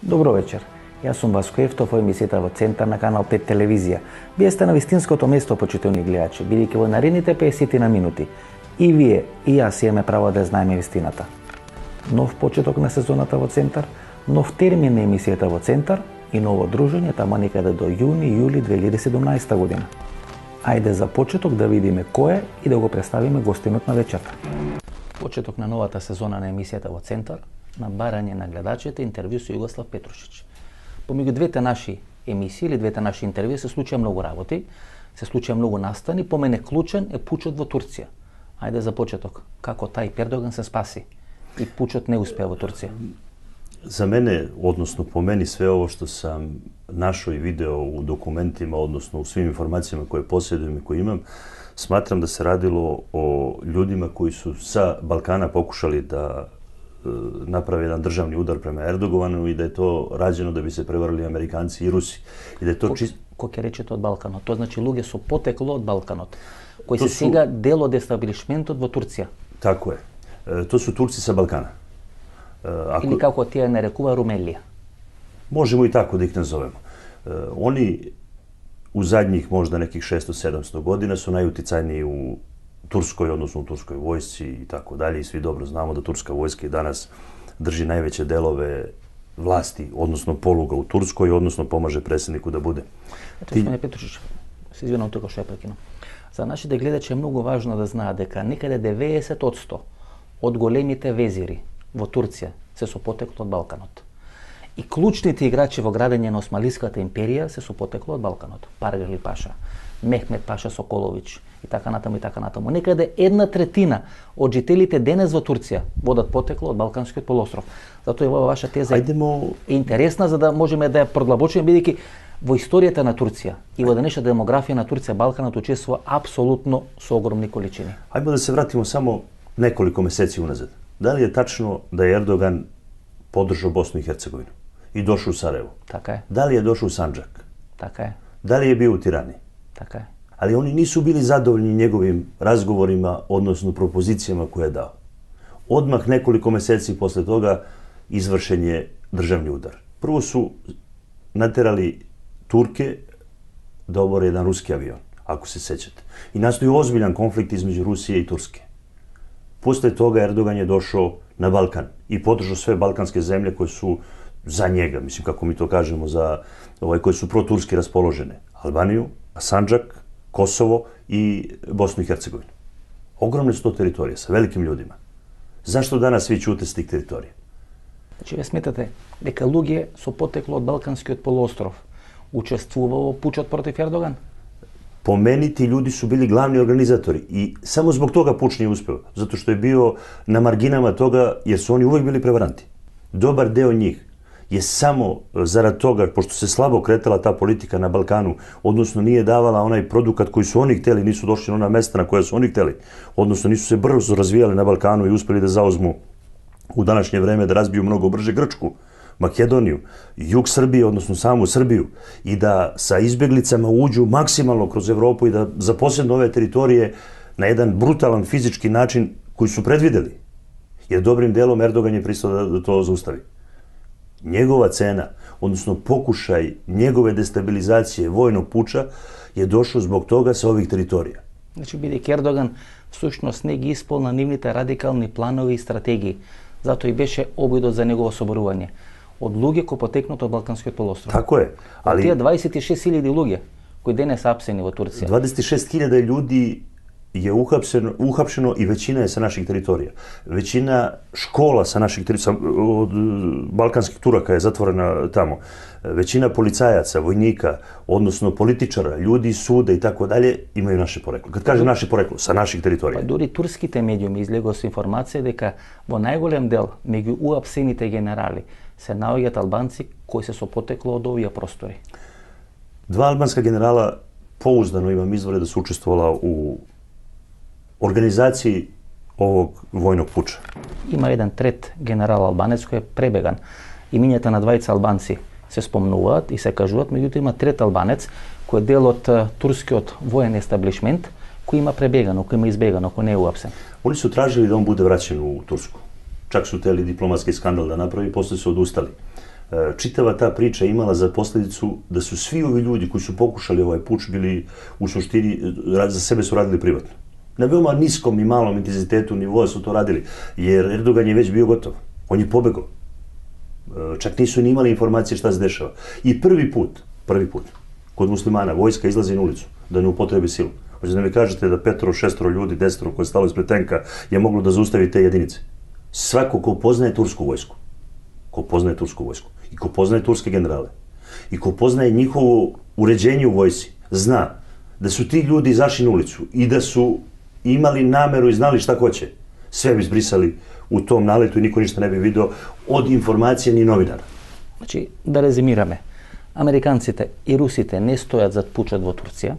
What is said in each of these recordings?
Добро вечер. Јас сум Васко Ефтов, во емисијата во Центар на Канал 5 телевизија. Вие сте на вистинското место, почитувани гледачи, бидејќи во наредните 50 на минути и вие, и јас имаме право да знаеме вистината. Нов почеток на сезоната во Центар, нов термин на емисијата во Центар и ново дружење тамо некаде до јуни-јули 2017 година. Ајде за почеток да видиме кој е и да го представиме гостинот на вечерта. Почеток на новата сезона на емисијата во Центар, на барање на гледачите, интервју со Југослав Петрушич. Помеѓу двете наши емисии или двете наши интервјуи се случија многу работи, се случија многу настани, по мене клучен е пучот во Турција. Ајде за почеток, како Тајип Ердоган се спаси и пучот не успеа во Турција? За мене, односно по мени, све ово што сам нашо и видео у документима, односно у свим информацијама кои поседуjem и кои имам, сматрам да се радило о људима кои су са Балкана покушали да направи еден државни удар према Ердогувану и да е то раđено да би се преварили американци и руси. И да е то чисто... Кој ќе речете од Балканот? Тоа значи луѓе со потекло од Балканот, кои се сега дел од естаблишментот во Турција. Тако е. То су турци са Балкана. Или како тие нарекува Румелија. Можемо и тако да их назовемо. Они у задњих можда неких 600-700 година су најутицајнiji у Турској, односно у турској војсци и така дале, и сви добро знамо да турска војска и данас држи највеќе делове власти, односно полуга у Турској, односно помаже председнику да буде. Ето, господине Петрушич, се извинам тука што ја прекинам. За нашите гледачи е многу важно да знаат дека некаде 90% од големите везири во Турција се со потекло од Балканот. И клучните играчи во градење на Османлиската империја се со потекло од Балканот. Паргали Паша, Мехмет Паша Соколович и така натаму и така натаму. Некаде 1/3 од жителите денес во Турција водат потекло од Балканскиот полуостров. Затоа ова ваша теза е интересна за да можеме да ја продлабочиме, бидејќи во историјата на Турција и во денешната демографија на Турција Балканот учествува апсолутно со огромни количини. Ајде да се вратиме само неколку месеци уназад. Дали е тачно да Ердоган поддржа Босну и Херцеговина и дошол у Сараево? Така е. Дали е дошол у Санџак? Така е. Дали е био у Тирани? Така е. Ali oni nisu bili zadovoljni njegovim razgovorima, odnosno propozicijama koje je dao. Odmah nekoliko meseci posle toga izvršen je državni udar. Prvo su naterali Turke da obore jedan ruski avion, ako se sećate. I nastoji ozbiljan konflikt između Rusije i Turske. Posle toga Erdogan je došao na Balkan i podržao sve balkanske zemlje koje su za njega, mislim kako mi to kažemo, za koje su proturski raspoložene. Albaniju, Sandžak, Kosovo i Bosnu i Hercegovinu. Ogromne su to teritorije sa velikim ljudima. Zašto danas svi ćute s tih teritorija? Значи, ве сметате дека луѓе со потекло од Балканскиот полуостров учествува во пучот против Ердоган? Po meni ti ljudi su bili glavni organizatori i samo zbog toga puč nije uspeo, zato što je bio na marginama toga jer su oni uvek bili prevaranti. Dobar deo njih je samo zarad toga, pošto se slabo kretala ta politika na Balkanu, odnosno nije davala onaj produkat koji su oni hteli, nisu došli na ona mesta na koja su oni hteli, odnosno nisu se brzo razvijali na Balkanu i uspeli da zauzmu u današnje vreme da razbiju mnogo brže Grčku, Makedoniju, jug Srbije, odnosno samu Srbiju, i da sa izbjeglicama uđu maksimalno kroz Evropu i da zaposednu ove teritorije na jedan brutalan fizički način koji su predvideli. Jer dobrim delom Erdogan je pristao da to zaustavi. Njegova cena, odnosno pokušaj njegove destabilizacije vojnog puča je došao zbog toga sa ovih teritorija. Значи, бидејќи Ердоган всушност не ги исполна нивните радикални планови и стратегии, затоа и беше обидот за негово соборување од луѓе кои потекнат од Балканскиот полуостров. Тако е, ali тие 26.000 луѓе кои денес апсени во Турција. 26.000 ljudi je uhapšeno i većina je sa naših teritorija. Većina škola sa naših teritorija, od balkanskih Turaka je zatvorena tamo. Većina policajaca, vojnika, odnosno političara, ljudi, suda i tako dalje, imaju naše poreklo. Kad kažem naše poreklo, sa naših teritorija. Па дури турските медиуми излегоа со информација дека во најголем дел меѓу уапсените генерали се наоѓаат албанци кои се со потекло од овие простори. Два албанска генерала pouzdano imam izvore da su učestvovala u организации овог војног пуча. Има еден трет генерал албанец кој е пребеган. Имињата на двајца албанци се спомнуваат и се кажуваат, меѓутоа има трет албанец кој е дел од турскиот воен естаблишмент, кој има пребегано, кој има избегано, кој не е уапсен. Они су тражили да он буде враќен у Турску. Чак су тели дипломатски скандал да направи, после се одустали. Čitava ta priča imala za posljedicu da su svi ovi ljudi koji su pokušali ovaj puč bili u suštini, za sebe su radili privatno. Na veoma niskom i malom intenzitetu nivoa su to radili, jer Erdogan je već bio gotov. On je pobegao. Čak nisu ni imali informacije šta se dešava. I prvi put, kod muslimana, vojska izlazi na ulicu da ne upotrebi silu. Hoćete da mi kažete da 5, 6 ljudi, 10 koji je stalo ispred tenka je moglo da zaustavi te jedinice. Svako ko poznaje tursku vojsku, i ko poznaje turske generale, i ko poznaje njihovo uređenje u vojsci, zna da su ti ljudi izašli na ulicu i da su imali nameru i znali šta hoće, sve bi zbrisali u tom naletu i niko ništa ne bi video od informacije ni novinara. Значи, да резимираме, американците и русите не стојат зад пучот во Турција,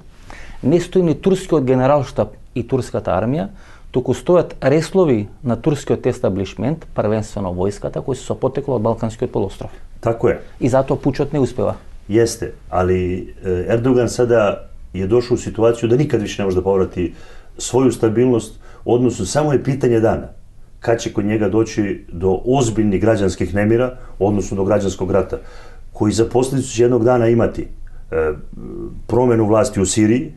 не стои ни турскиот генералштаб и турската армија, туку стојат реслови на турскиот естаблишмент, првенствено војската, кои се со потекло од Балканскиот полуостров. Тако е. И затоа пучот не успева. Jeste, ali Erdogan sada je došao u situaciju da nikad više ne može da povrati svoju stabilnost, odnosno samo je pitanje dana kad će kod njega doći do ozbiljnih građanskih nemira, odnosno do građanskog rata, koji za posljedicu će jednog dana imati promenu vlasti u Siriji,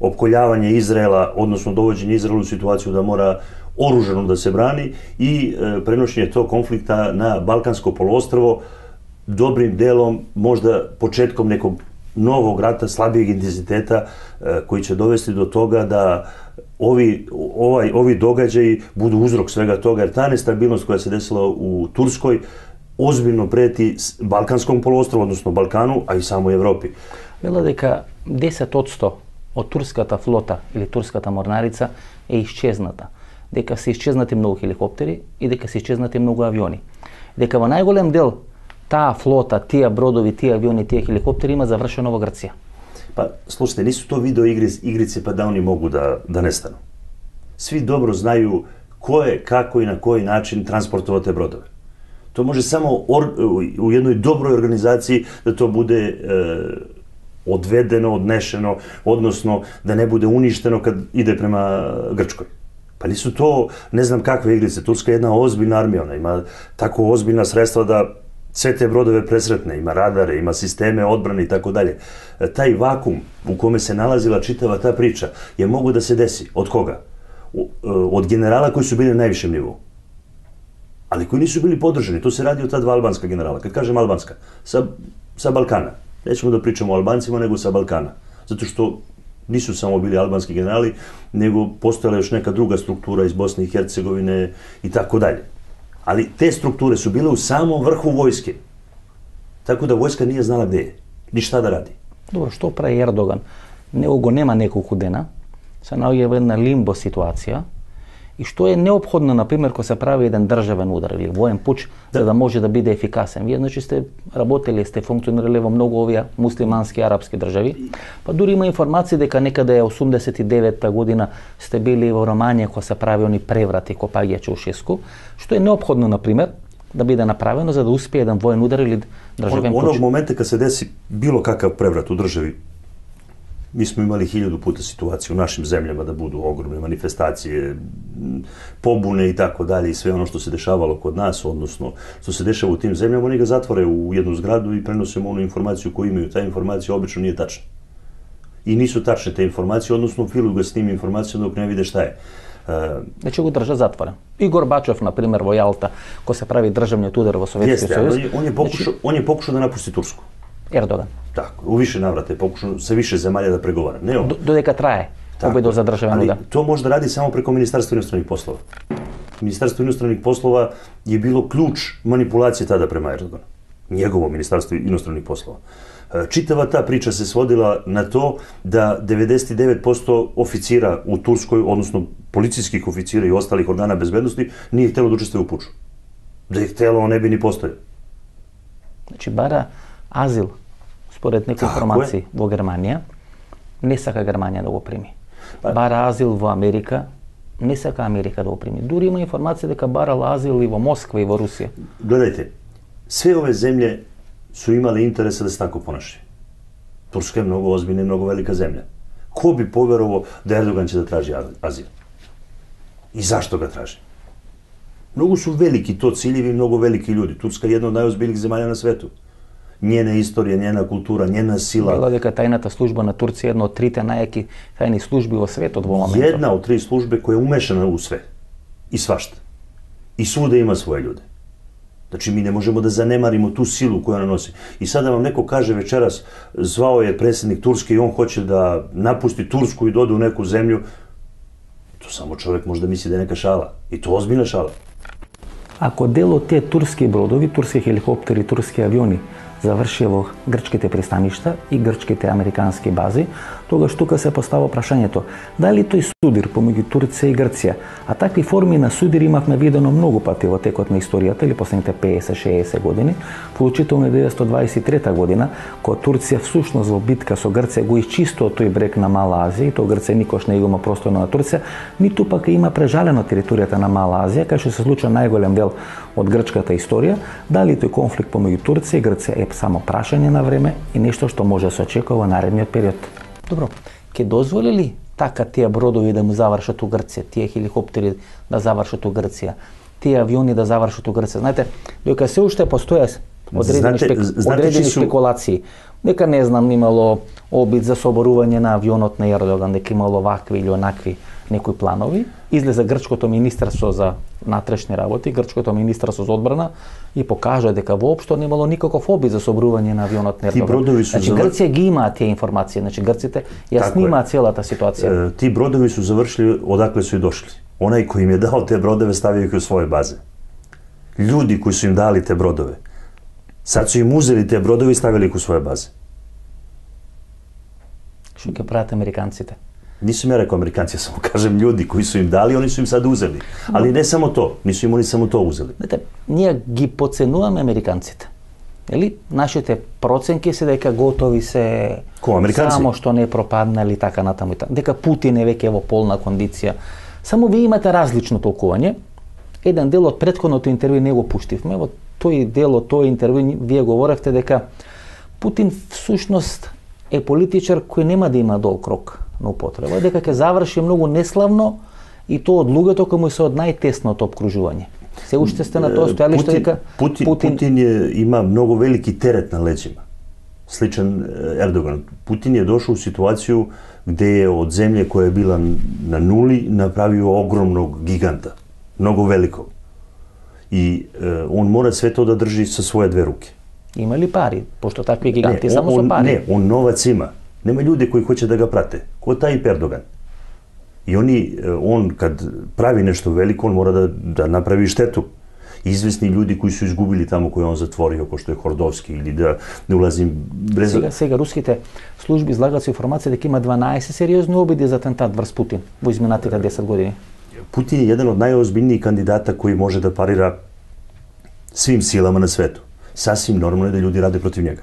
opkoljavanje Izraela, odnosno dovođenje Izraela u situaciju da mora oružano da se brani i prenošenje tog konflikta na Balkansko poluostrvo, dobrim delom, možda početkom nekog novog rata, slabijeg intenziteta, koji će dovesti do toga da ovi događaji budu uzrok svega toga, jer ta nestabilnost koja se desila u Turskoj ozbiljno preti Balkanskom poluostrovu, odnosno Balkanu, a i samoj Evropi. Вела дека 10% од турската флота или турската морнарица е исчезната. Дека се исчезнати многу хеликоптери и дека се исчезнати многу авиони. Дека во најголем дел таа флота, тие бродови, тие авиони, тие хеликоптери има завршено во Грција. Pa, slušajte, nisu to video igrice pa da oni mogu da nestanu. Svi dobro znaju ko je, kako i na koji način transportovao te brodove. To može samo u jednoj dobroj organizaciji da to bude odvedeno, odnešeno, odnosno da ne bude uništeno kad ide prema Grčkoj. Pa nisu to ne znam kakve igrice. Turska je jedna ozbiljna armija, ona ima tako ozbiljna sredstva da sve te brodove presretne, ima radare, ima sisteme odbrane i tako dalje. Taj vakum u kome se nalazila čitava ta priča je mogo da se desi. Od koga? Od generala koji su bili na najvišem nivou. Ali koji nisu bili podržani. To se radi o ta dva albanska generala. Kad kažem albanska, sa Balkana. Nećemo da pričamo o Albancima, nego sa Balkana. Zato što nisu samo bili albanski generali, nego postojala još neka druga struktura iz Bosne i Hercegovine i tako dalje. Ali te strukture su bile u samom vrhu vojske. Tako da vojska nije znala gde je, ni šta da radi. Добро, што прави Ердоган? Него го нема неколку дена, се наоѓа во една лимбо ситуација, и што е неопходно, например, кога се прави еден државен удар или воен пуч, за да може да биде ефикасен. Вие, значи, сте работели, сте функционирали во многу овие муслимански арапски држави, па дури има информации дека некаде 89-та година сте били во Романија кога се прави они преврати копаѓа Чаушеску, што е неопходно, например, да биде направено за да успее еден воен удар или државен пуч. Onog momenta kad se desi bilo kakav prevrat u državi, mi smo imali 1000 puta situaciju u našim zemljama da budu ogromne manifestacije, pobune i tako dalje i sve ono što se dešavalo kod nas, odnosno što se dešava u tim zemljama, oni ga zatvore u jednu zgradu i prenose mu onu informaciju koju imaju. Ta informacija obično nije tačna. I nisu tačne te informacije, odnosno filuju ga s tim informacijom dok ne vide šta je. Значи го држа затворен. И Горбачов, например, во Јалта, кога се прави државниот удар во Советскиот сојуз. On je pokušao da napusti Tursku. Ердоган. Tako, u više navrata je pokušao sa više zemalja da pregovara. Ne on. Dodeka traje победа за државен удар. To može da radi samo preko Ministarstva inostranih poslova. Ministarstvo inostranih poslova je bilo ključ manipulacije tada prema Erdoganu. Njegovo Ministarstvo inostranih poslova. Čitava ta priča se svodila na to da 99% oficira u Turskoj, odnosno policijskih oficira i ostalih organa bezbednosti, nije htelo da učestvuje u puču. Da je htelo, on ne bi ni postojao. Значи бара азил, според некои информации во Германија, не сака Германија да го прими. Бара азил во Америка, не сака Америка да го прими. Дури има информација дека барал азил и во Москва и во Русија. Гледajte, sve ove zemlje su imali interesa da se tako ponašaju. Turska je mnogo ozbiljna i mnogo velika zemlja. Ko bi poverovao da Erdogan će da traži azil? I zašto ga traži? Многу су велики то ciljevi, многу велики луѓе. Турска е една од најозбилних земји на свету. Njena istorija, njena kultura, njena sila. Вела дека тајната служба на Турција е една од трите најјаки тајни служби во светот во моментот. Една од три службе која е умешана у све. И свашта. И свуда има своје луѓе. Значи, ми не можемо да занемаримо ту силу која она носи. И сада вам неко каже вечерас, звао е председник Турски и он хоче да напусти Турску и доде у неку земју, то само човек може да мисли да е нека шала. И то озбилна шала. Ако дел од тие турски бродови, турски хеликоптери, турски авиони заврши во грчките пристаништа и грчките американски бази, тогаш тука се постава прашањето дали тој судир помеѓу Турција и Грција, а такви форми на судир имавме видено многу пати во текот на историјата или последните 50-60 години, вклучително 1923 година, кога Турција всушност во битка со Грција го исчистува тој брег на Мала Азија, и тоа Грција никош не го има простор на Турција, ниту пак има прежалено територијата на Мала Азија, кај што се случува најголем дел од грчката историја. Дали тој конфликт помеѓу Турција и Грција е само прашање на време и нешто што може да се очекува во наредниот период. Добро, ќе дозволи ли така тие бродови да му завршат у Грција, тие хеликоптери да завршат у Грција, тие авиони да завршат у Грција? Знаете, дека се уште постојат одредени спекулации. Дека не знам, имало обид за соборување на авионот на Ердоган, дека имало вакви или онакви некои планови. Излезе грчкото министерство за внатрешни работи, грчкото министерство за одбрана и покажа дека воопшто немало никаков обид за соборување на авионот на Ердоган. Значи Грција ги имаат тие информации, значи грците ја снимаат целата ситуација. Ти бродови су завршили одакле су и дошли. Онај кој им е дал те бродове стави ги у своје базе. Луѓи кои су им дали те бродове, сад су им узели те бродови и ставили ги у своје базе. Што ќе прават американците? Нисум ја рекол американци, само кажем луѓи кои су им дали, они су им сад узели. Али не само то, нису им они само то узели. Знаете, ние ги подценуваме американците. Ели, нашите проценки се дека готови се само што не пропаднали така натаму и така. Дека Путин е веќе во полна кондиција. Само ви имате различно толкување. Еден дел од претходното интервју не го пуштивме. Во тој дел од тој интервју вие говоревте дека Путин всушност е политичар кој нема да има долг рок на употреба, дека ќе заврши многу неславно и тоа од луѓето кои му се од најтесното обкружување. Се уште сте на тоа стојалиште дека Путин има многу велики терет на леđima. Сличен Ердоган. Путин е дошол у ситуацију где е од земја која е била на нули направио огромnog гиганта, многу велико. И он мора све тоа да држи со своје две руки. Има ли пари? Пошто такви гиганти само со пари. Не, он новац има. Нема луѓе кои хоќе да го прате. Кој тај Ердоган. И он кад прави нешто велико, он мора да направи штету. Известни луѓе кои су изгубили таму кој он затворио, кој што е Хордовски, или да не улазим без... Сега руските служби излагаат со информација дека има 12 сериозни обиди за атентат врз Путин во изминатите 10 години. Путин е еден од најозбилнiji кандидата кој може да парира свим силама на свету. Сасим нормално е да луѓе раде против njega.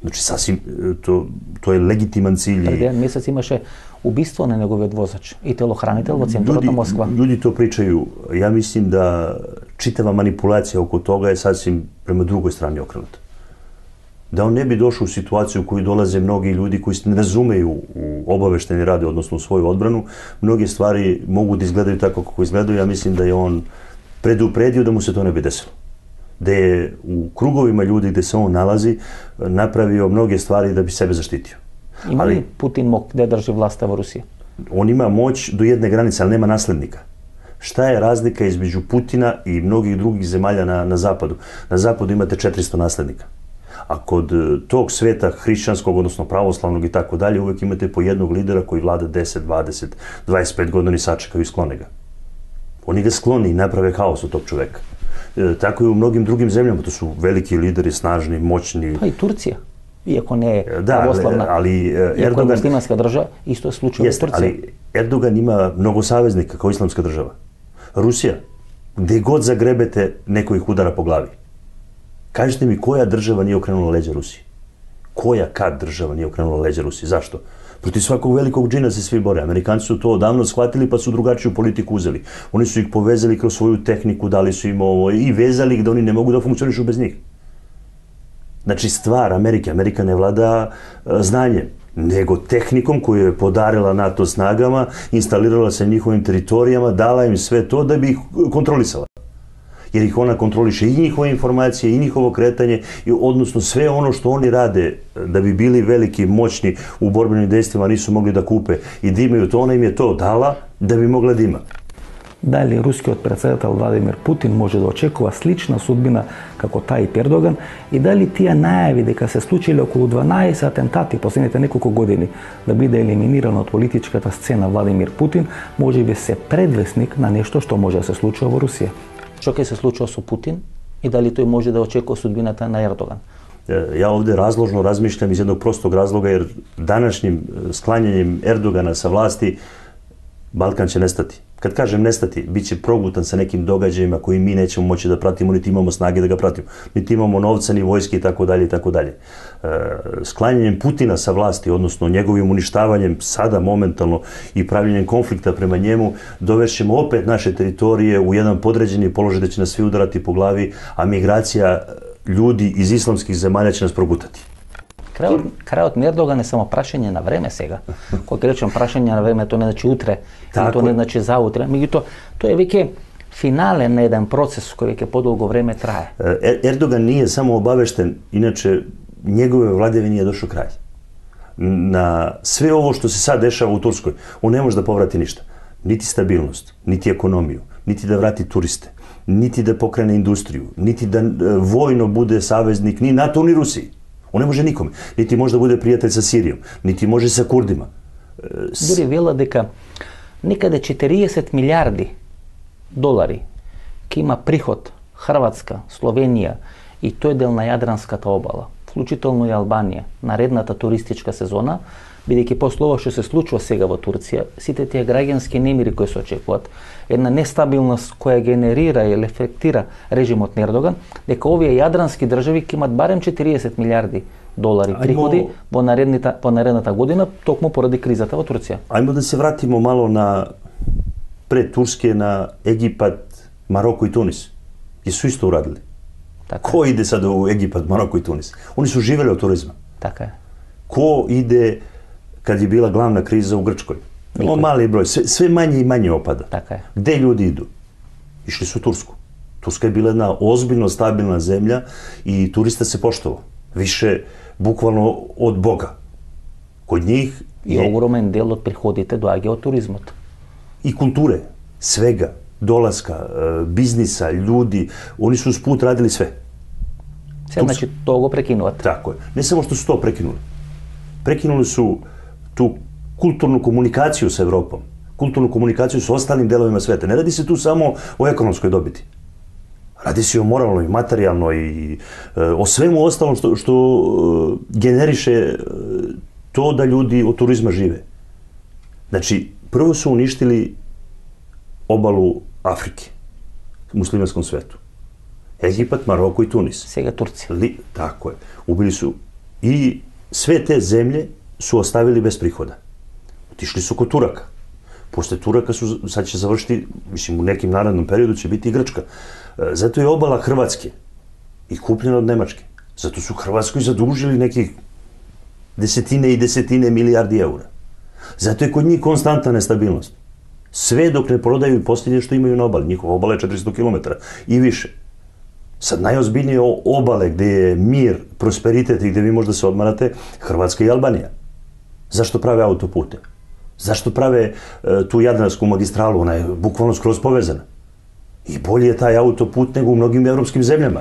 Значи сасим тоа е легитимен циљ. Пред еден месец имаше убиство на неговиот возач и телохранител во центарот на Москва. Луѓе тоа причају. Ја мислим да читава манипулација околу тога е сасим према другој страни окренута. Да он не би дошол у ситуацију кој долазе многи луѓе кои не разумеju у обавештени ради, односно у своју одбрану, многи ствари могу да изгледају така како изгледају. Ја мислим да е он предупредио да му се тоа не би десило. Да е у круговима луѓе где се он налази, направио многи ствари да би себе заштитио. Има ли Путин мог да држи власта во Русија? Он има моќ до едне граница, али нема наследника. Шта е разлика измеѓу Путина и многих других земјалја на Западу? На Западу имате 400 наследника. А код тог света христијанског, односно православnog и така далje, увек имате по едnog лидера кој влада 10, 20, 25 години сачекају и склоне га. Они го склони и направе хаос од тог човек. Тако и у многим другим земјама, тоа су велики лидери, снажни, моćни. Па и Турција, иако не е православна, иако е муслиманска држава, исто е случај во Турција. Али Ердоган има многу саветника како исламска држава. Русија, где год загребете, некој их удара по глави. Кажете ми која држава не окренула леđа Русија? Која кад држава не окренула леđа Русија? Зашто? Против сваког великог джина се сви боре. Американци су тоа одавно схватили, па су другачију политику узели. Они су их повезали кроз своју технику, дали су им ово и везали их да они не могу да функционишу без них. Значи ствар Америка не влада знање, него техником кој е подарила НАТО снагама, инсталирала се ниховим територијама, дала им све тоа да би их контролисала. jer ih ona kontroliše i njihove informacije i njihovo kretanje, i odnosno sve ono što oni rade da bi bili veliki, moćni u borbenim dejstvima, nisu mogli da kupe i da imaju to, ona im je to dala da bi mogla da ima. Da li рускиот председател Владимир Путин може да очекува слична судбина како Тајип Ердоган и дали тие најави дека се случиле околу 12 атентати последните неколку години да биде елиминиран од политичката сцена Владимир Путин, може би се предвесник на нешто што може да се случува во Русија? Што ќе се случува со Путин и дали тој може да очекува судбината на Ердоган? Ja ovde razložno razmišljam iz jednog prostog razloga, jer današnjim sklanjanjem Erdogana sa vlasti Balkan će nestati. Kad kažem nestati, bit će progutan sa nekim događajima koji mi nećemo moći da pratimo, niti imamo snage da ga pratimo, niti imamo novca, ni vojske i tako dalje i tako dalje. Sklanjanjem Putina sa vlasti, odnosno njegovim uništavanjem sada momentalno i pravljenjem konflikta prema njemu, dovešćemo opet naše teritorije u jedan podređeni položaj da će nas svi udarati po glavi, a migracija ljudi iz islamskih zemalja će nas progutati. Крајот на Ердоган е само прашање на време сега. Кога речем прашање на време, тоа не значи утре, тоа не значи заутре. Меѓутоа, тоа е веќе финален на еден процес кој веќе подолго време трае. Ердоган nije само обавештен, иначе njegove vladavini je došao kraj. Na sve ovo što se sad dešava u Turskoj, on ne može da povrati ništa. Niti stabilnost, niti ekonomiju, niti da vrati turiste, niti da pokrene industriju, niti da vojno bude saveznik ni NATO ni Rusiji. On ne može nikome. Niti može da bude prijatelj sa Sirijom, niti može sa Kurdima. Дури вела дека некаде 40 милиарди долари ќе има приход Хрватска, Словенија и тој дел на Јадранската обала, вклучително и Албанија, наредната туристичка сезона, бидејќи после ова што се случува сега во Турција, сите тие граѓански немири кои се очекуваат, една нестабилност која генерира или ефектира режимот на Ердоган, дека овие јадрански држави ќе имат барем 40 милиарди долари приходи во наредната година, токму поради кризата во Турција. Ајмо да се вратимо мало на пред Турскије, на Египат, Мароко и Тунис. И су исто урадили. Ко иде сад у Египат, Мароко и Тунис? Они су живели од туризма. Така е. Ко иде kad je bila glavna kriza u Grčkoj? Mali broj, sve manje i manje opada. Така е. Gde ljudi idu? Išli su u Tursku. Turska je bila jedna ozbiljno stabilna zemlja i turista se poštovao. Više bukvalno od Boga. Kod njih I ogromen del од приходите доаѓа од туризмот. I kulture, svega, dolaska, biznisa, ljudi, oni su usput radili sve. Се, значи, тоа го прекинуват. Tako je. Ne samo što su to prekinuli. Prekinuli su tu kulturnu komunikaciju sa Evropom, kulturnu komunikaciju sa ostalim delovima sveta. Ne radi se tu samo o ekonomskoj dobiti. Radi se o moralnoj, materijalnoj i o svemu ostalom što generiše to da ljudi od turizma žive. Znači, prvo su uništili obalu Afrike, muslimanskom svetu. Egipat, Maroko i Tunis. Сега Турција. Tako je. Ubili su i sve te zemlje su ostavili bez prihoda. Otišli su kod Turaka. Posle Turaka su, sad će završiti, mislim u nekim narednom periodu će biti i Grčka. Zato je obala Hrvatske i kupljena od Nemačke. Zato su Hrvatskoj zadužili nekih desetine i desetine milijardi eura. Zato je kod njih konstantna nestabilnost. Sve dok ne prodaju posljednje što imaju na obali. Njihova obala je 400 km i više. Sad najozbiljnije obale gde je mir, prosperitet i gde vi možda se odmarate, Hrvatska i Albanija. Zašto prave autopute? Zašto prave tu Jadransku magistralu? Ona je bukvalno skroz povezana. I bolje je taj autoput nego u mnogim evropskim zemljama.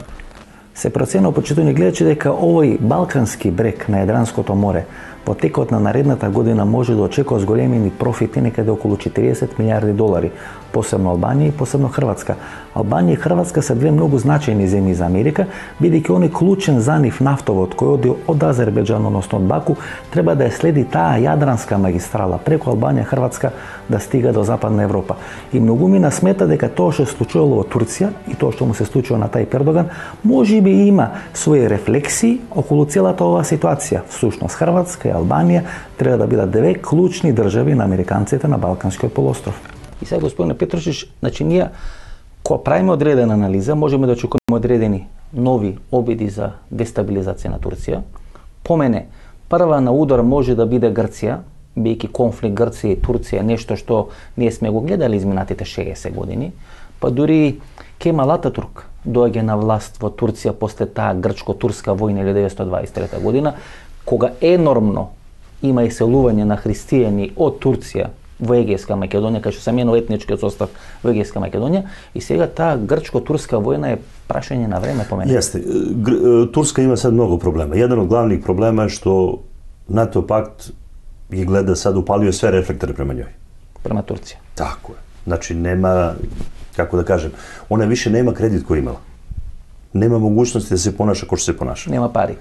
Се проценува почитувани гледачи дека овој балкански брег на Јадранското море во текот на наредната година може да очекува зголемени профити некаде околу 40 милиарди долари, посебно Албанија и посебно Хрватска. Албанија и Хрватска се две многу значајни земји за Америка, бидејќи он е клучен за нив нафтовод кој оди од Азербејџан, односно од Баку, треба да ја следи таа Јадранска магистрала преку Албанија и Хрватска да стига до Западна Европа. И многумина смета дека тоа што се случувало во Турција и тоа што му се случува на Тајип Ердоган, можеби има своји рефлексии околу целата оваа ситуација. Всушност Хрватска и Албанија треба да бидат две клучни држави на американците на Балканскиот полуостров. И сега, господине Петрушич, значи ние кога правиме одредена анализа, можеме да очекуваме одредени нови обиди за дестабилизација на Турција. По мене, прва на удар може да биде Грција, бидејќи конфликт Грција и Турција е нешто што ние сме го гледали изминатите 60 години. Па дури Кемал Ататурк доаѓа на власт во Турција после таа грчко-турска војна 1923 година, кога енормно има иселување на христијани од Турција во Егејска Македонија, кај што се менува етничкиот состав во Егејска Македонија, и сега таа грчко-турска војна е прашање на време по мене. Јесте, Турска има сад многу проблема. Еден од главних проблема е што НАТО пакт ги гледа сад, упалио све рефлектори према њој. Према Турција. Тако е. Значи нема, како да кажем, она више нема кредит кој имала. Нема могуćности да се понаша како што се понаша. Нема пари.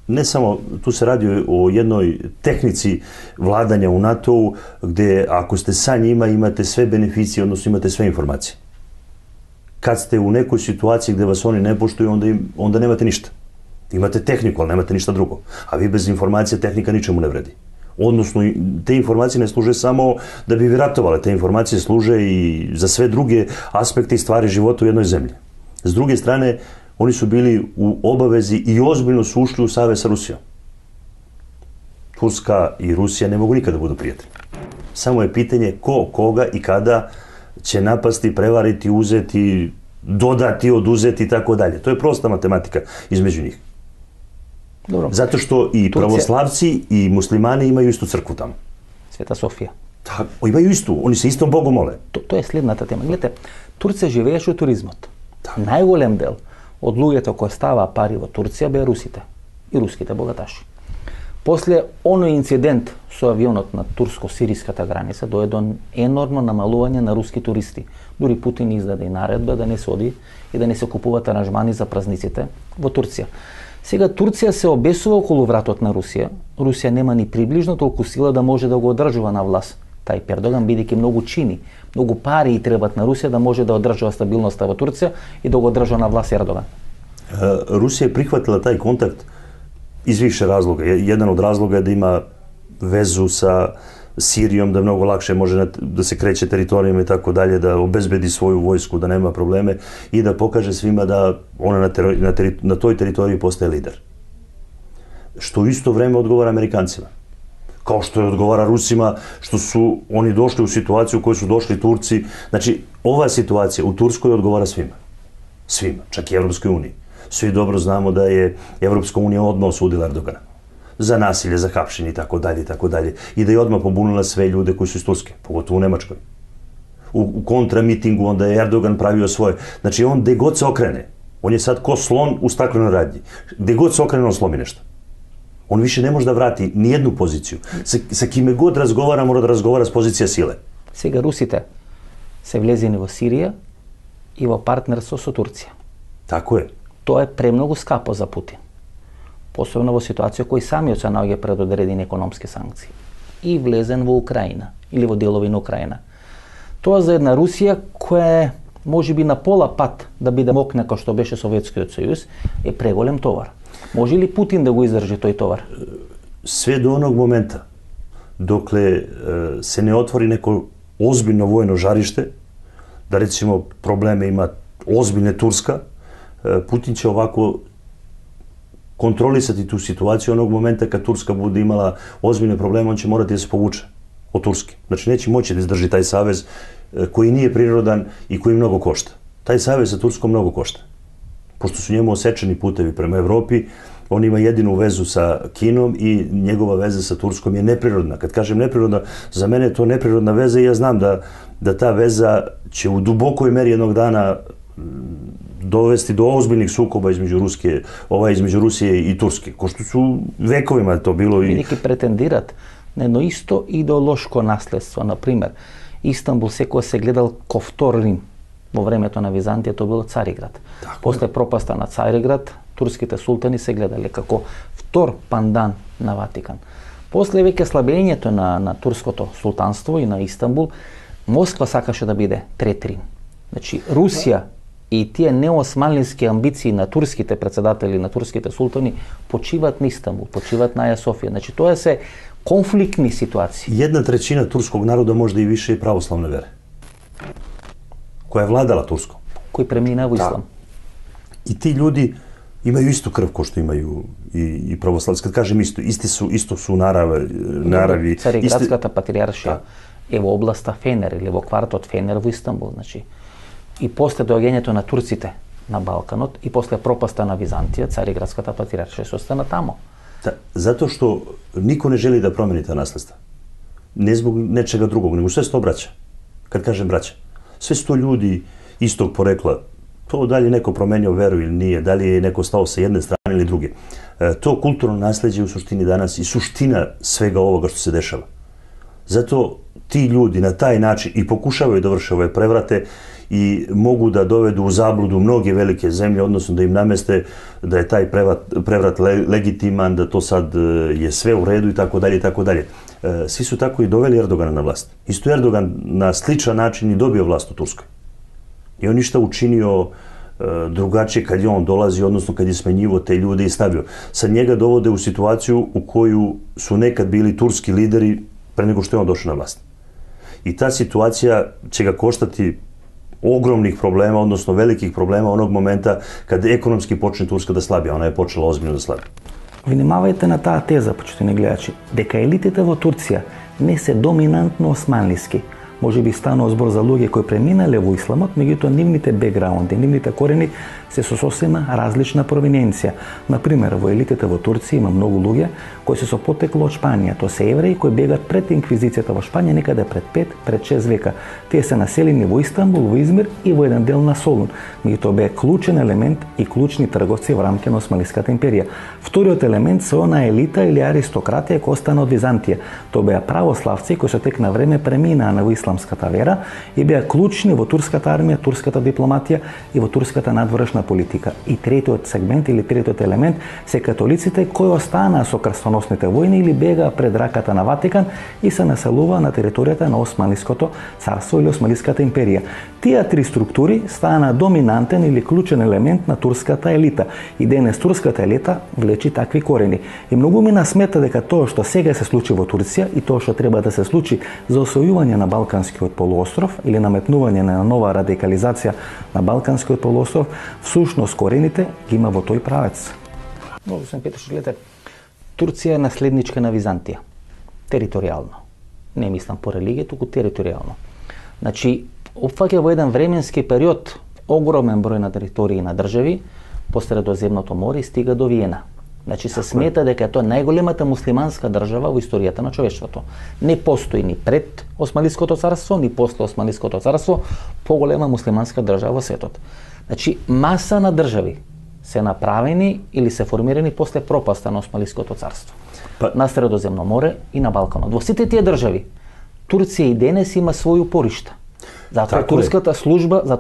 Не само, ту се ради о jednoj техници владања у НАТО, где ако сте са њима имате све бенефиции, односно имате све информации. Кад сте у некој ситуација где вас они не поштују, онда немате ништа. Имате технику, ал немате ништа друго. А ви без информација техника ничему не вреди. Односно, те информации не служе само да би ви ратовале, те информации служе и за све други аспекти и ствари живота у jednoj земји. С друге стране, они су били у обавези и озбиljно су ушли у савез со Русија. Турска и Русија не могу никада да буду пријатели. Само е питање ко, кога и када ќе напасти, преварити, узети, додати, одузети и тако даље. Тоа е проста математика измеѓу нив. Добро. Затоа што и православци и муслимани имају исту цркву таму. Света Софија. Така, имају исту, они се истом Богу моле. Тоа е следната тема. Гледате, Турција живееше од туризмот. Најголем дел од луѓето кои ставаа пари во Турција беа русите и руските богаташи. После оној инцидент со авионот на турско-сириската граница дојде до енормно намалување на руски туристи. Дури Путин издаде и наредба да не се оди и да не се купуваат аранжмани за празниците во Турција. Сега Турција се обесува околу вратот на Русија. Русија нема ни приближно толку сила да може да го одржува на власт тај Ердоган, бидејќи многу чини, многу пари и требат на Русија да може да одржува стабилноста во Турција и да го одржува на власт Ердоган. Русија прихватила тај контакт из више разлога. Еден од разлога е да има везу са Сиријом, да многу лакше може да се креće територијама и тако далje, да обезбеди своју војску, да нема проблеме и да покаже свима да она на тој територија постае лидер. Што исто време одговара американцима. Као што одговара Русима, што су они дошли у ситуацију у кој су дошли Турци. Значи, оваа ситуација у Турској одговара свима. Свима, чак и Европској унија. Сви добро знамо да е Европска унија одма осудила Ердогана за насилje, за хапшење и тако далje, и да ја одма побунила све луѓе кои су из Турske, поготово у Немачкој. У контрамитингу онда е Ердоган правио своје. Значи, он де год се окрене, он е сад ко слон у стаклено радњи. Де год се окрене, он сломи нешто. Он више не може да врати ни едну позицiju. Sa kime god razgovara, mora da razgovara s pozicija sile. Сега русите се влезени во Сирија и во партнерство со Турција. Тако е. Тоа е премногу скапо за Путин. Посебно во ситуација кој самиот се наоѓа пред одредени економски санкции. И влезен во Украина, или во делови на Украина. Тоа за една Русија која може би на пола пат да биде мокна како што беше Советскиот сојуз, е преголем товар. Може ли Путин да го издржи тој товар? Све до оног момента, докле се не отвори неко озбиljно војно жариште, да речимо проблеме има озбиljne Турска, Путин ќе овако контролисати ту ситуација оног момента кад Турска буде имала озбиljne проблеми, он ќе морати да се повуче од Турски. Значи неќе моći да издржи тај савез кој не е природен и кој многу кошта. Тај савез за Турско многу кошта. Пошто су njemu осечени путеви према Европи, он има едину везу са Кином и njegova веза са Турском е неприродна. Кад кажем неприродна, за мене е тоа неприродна веза и ја знам да та веза ќе у дубокој мери едnog дана довести до озбиljnih сукоба измеѓу Русија и Турски, кој што су вековима то било и бидејќи претендират на едно исто идеолошко наследство. Например, Истанбул секој се гледал ко втор Рим. Во времето на Византија тоа било Цариград. После пропаста на Цариград, турските султани се гледале како втор пандан на Ватикан. После веќе слабењето на турското султанство и на Истанбул, Москва сакаше да биде трет Рим. Значи, Русија и тие неосманлински амбиции на турските председатели, на турските султани, почиват на Истанбул, почиват на Аја Софија. Значи, тоа се конфликтни ситуации. 1/3 турскog народа може да и више и православна вера, која владала Турско. Кој премина во ислам. И ти луѓи имају исту крв кој што имају и православци. Кад кажем исто су нарави. Цариградската патриаршија е во областа Фенер или во квартот Фенер во Истанбул. Значи, и после доаѓањето на турците на Балканот и после пропаста на Византија, Цариградската патриаршија се остана тамо. Да, затоа што никој не жели да промени таа наследство. Не због нечега другог, него све сто браќа. Кад кажем браќа, све сто луѓи истог порекла, то дали некој променio веру или nije, дали е некој стао sa jedne strane или друге. То културно наслеđe у суштини данас и суштина свега овога што се дешава. Зато ти луѓи на тај начин и покушавају да врше ове преврате и могу да доведу у заблуду многи велике земје, односно да им наместе да е тај преврат легитиман, да то сад е све у реду и така дале и така дале. Сви су тако и довели Ердогана на власт. Исто Ердоган на сличан начин и добио власт у Турској. И он ништа учинио другаче кад он долази, односно кад е сменjivo те луѓе и ставио. Сад njega доводе у ситуацију у коју су некад били турски лидери пре него што е он дошao на власт. И та ситуација ќе га коштати огромних проблема, односно великих проблема оног момента кад економски почне Турска да слаби, она е почела озбиljно да слаби. Внимавајте на таа теза, почитувани гледачи, дека елитите во Турција не се доминантно османлиски. Може би станува збор за луѓе кои преминале во исламот, меѓутоа нивните бекграунди, нивните корени се со сосема различна провиненција. Например, во елитите во Турција има многу луѓе кои се со потекло од Шпанија. Тоа се евреи кои бегат пред инквизицијата во Шпанија некаде пред 5, пред 6 века. Тие се населени во Истанбул, во Измир и во еден дел на Солун. Меѓутоа беа клучен елемент и клучни трговци во рамките на Османлиската империја. Вториот елемент се она елита или аристократија која остана од Византија. Тоа беа православци кои со тек на време преминаа на исламската вера и беа клучни во турската армија, турската дипломатија и во турската надворешна политика. И третиот сегмент или третиот елемент се католиците кои останаа со крстоносните војни или бегаа пред раката на Ватикан и се населуваа на територијата на Османлиското царство или Османлиската империја. Тие три структури стана доминантен или клучен елемент на турската елита. И денес турската елита влечи такви корени. И многу ми насмета дека тоа што сега се случи во Турција и тоа што треба да се случи за освојување на Балканскиот полуостров или наметнување на нова радикализација на Балканскиот полуостров, всушност корените ги има во тој правец. Господин Петрович, гледате, Турција е наследничка на Византија. Територијално. Не мислам по религија, туку територијално. Значи, опфаќа во еден временски период огромен број на територии на држави по Средоземното море и стига до Виена. Значи се смета дека тоа е најголемата муслиманска држава во историјата на човештвото. Не постои ни пред Османлиското царство, ни после Османлиското царство поголема муслиманска држава во светот. Значи маса на држави се направени или се формирани после пропаста на Османлиското царство. На Средоземно море и на Балканот. Во сите тие држави Турција и денес има своји упоришта. Затоа е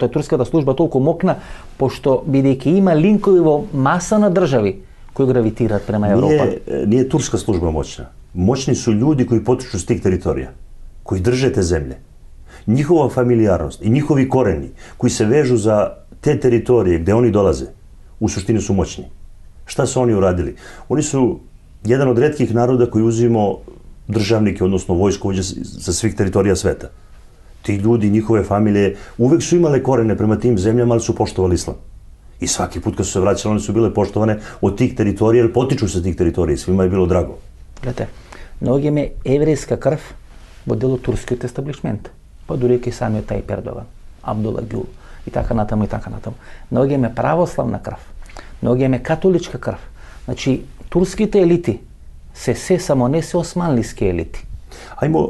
турската служба толку мокна, пошто бидејќи има линкови во маса на држави кои гравитираат према Европа. Nije турска служба moćna. Moćni su ljudi koji potiču s tih teritorija, koji drže te zemlje. Njihova familijarnost i njihovi koreni koji se vežu za te teritorije gde oni dolaze, u suštini su moćni. Šta su oni uradili? Oni su jedan od retkih naroda koji uzimo državnike, odnosno vojskovođe sa svih teritorija sveta. Ti ljudi, njihove familije, uvek su imale korene prema tim zemljama, ali su poštovali islam. I svaki put kad su se vraćali, one su bile poštovane od tih teritorija, jer potiču sa tih teritorija, svima je bilo drago. Гледате, многу има еврејска крв во дел од турскиот естаблишмент, па дури и самиот тај Ердоган, Абдула Гюл и така натаму и така натаму. Многу има православна крв, многу има католичка крв. Значи, турските елити се само не се османлиски елити.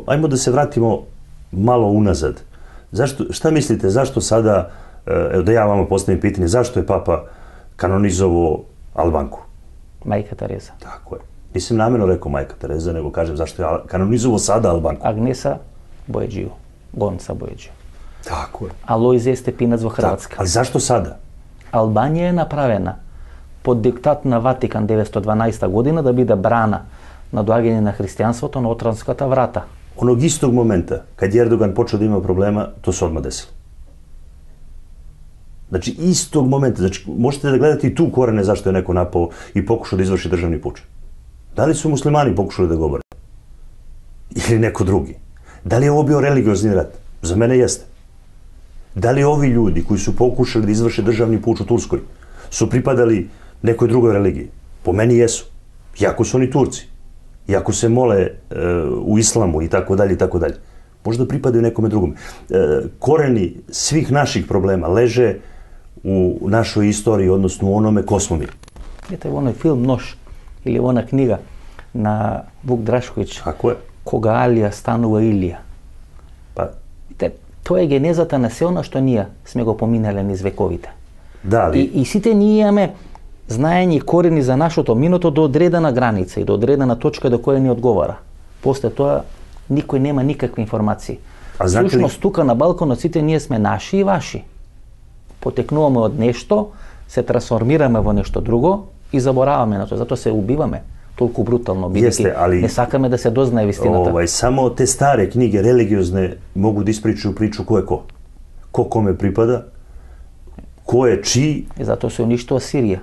Ajmo da se vratimo malo unazad. Šta mislite, zašto sada, da ja vama postavim pitanje, zašto je Papa kanonizovao Albanku? Мајка Тереза. Tako je. Nisam namjerno rekao Majka Tereza, nego kažem zašto je kanonizovao sada Albanku. Агнеса Бојаджију, Гонца Бојаджију. Tako je. Алојзе Степинац во Хрватска. Ali zašto sada? Албанија е направена под диктат на Ватикан 912 година да биде брана на доаѓање на христијанството на Отранската врата. Onog istog momenta, kad je Erdogan počeo da ima problema, to se odmah desilo. Znači, istog momenta, znači, možete da gledate i tu korene zašto je neko napao i pokušao da izvrši državni puč. Da li su muslimani pokušali da govore? Ili neko drugi? Da li je ovo bio religiozni rat? Za mene jeste. Da li ovi ljudi koji su pokušali da izvrše državni puč u Turskoj su pripadali nekoj drugoj religiji? Po meni jesu. Iako su oni Turci. Iako se mole u islamu i tako dalje i tako dalje. Možda pripadaju nekome drugome. Koreni svih naših problema leže u našoj istoriji, odnosno u onome ko smo mi. Ето оној филм Нож или она книга на Вук Драшковиќ. Како е? Кога Алија станува Илија. Па, тоа е генезата на се она што ние сме го поминале низ вековите. да, ali... И сите ние имаме знаење и корени за нашето минато до одредена граница и до одредена точка до која ни одговара. После тоа никој нема никакви информации. Всушност тука на Балканот сите ние сме наши и ваши. Потекнуваме од нешто, се трансформираме во нешто друго и забораваме на тоа. Затоа се убиваме толку брутално, бидејќи не сакаме да се дознае вистината. Само те старе книги религиозне могу да испричају причу кој е ко. Ко коме припада, кој е чии. И затоа се уништува Сирија.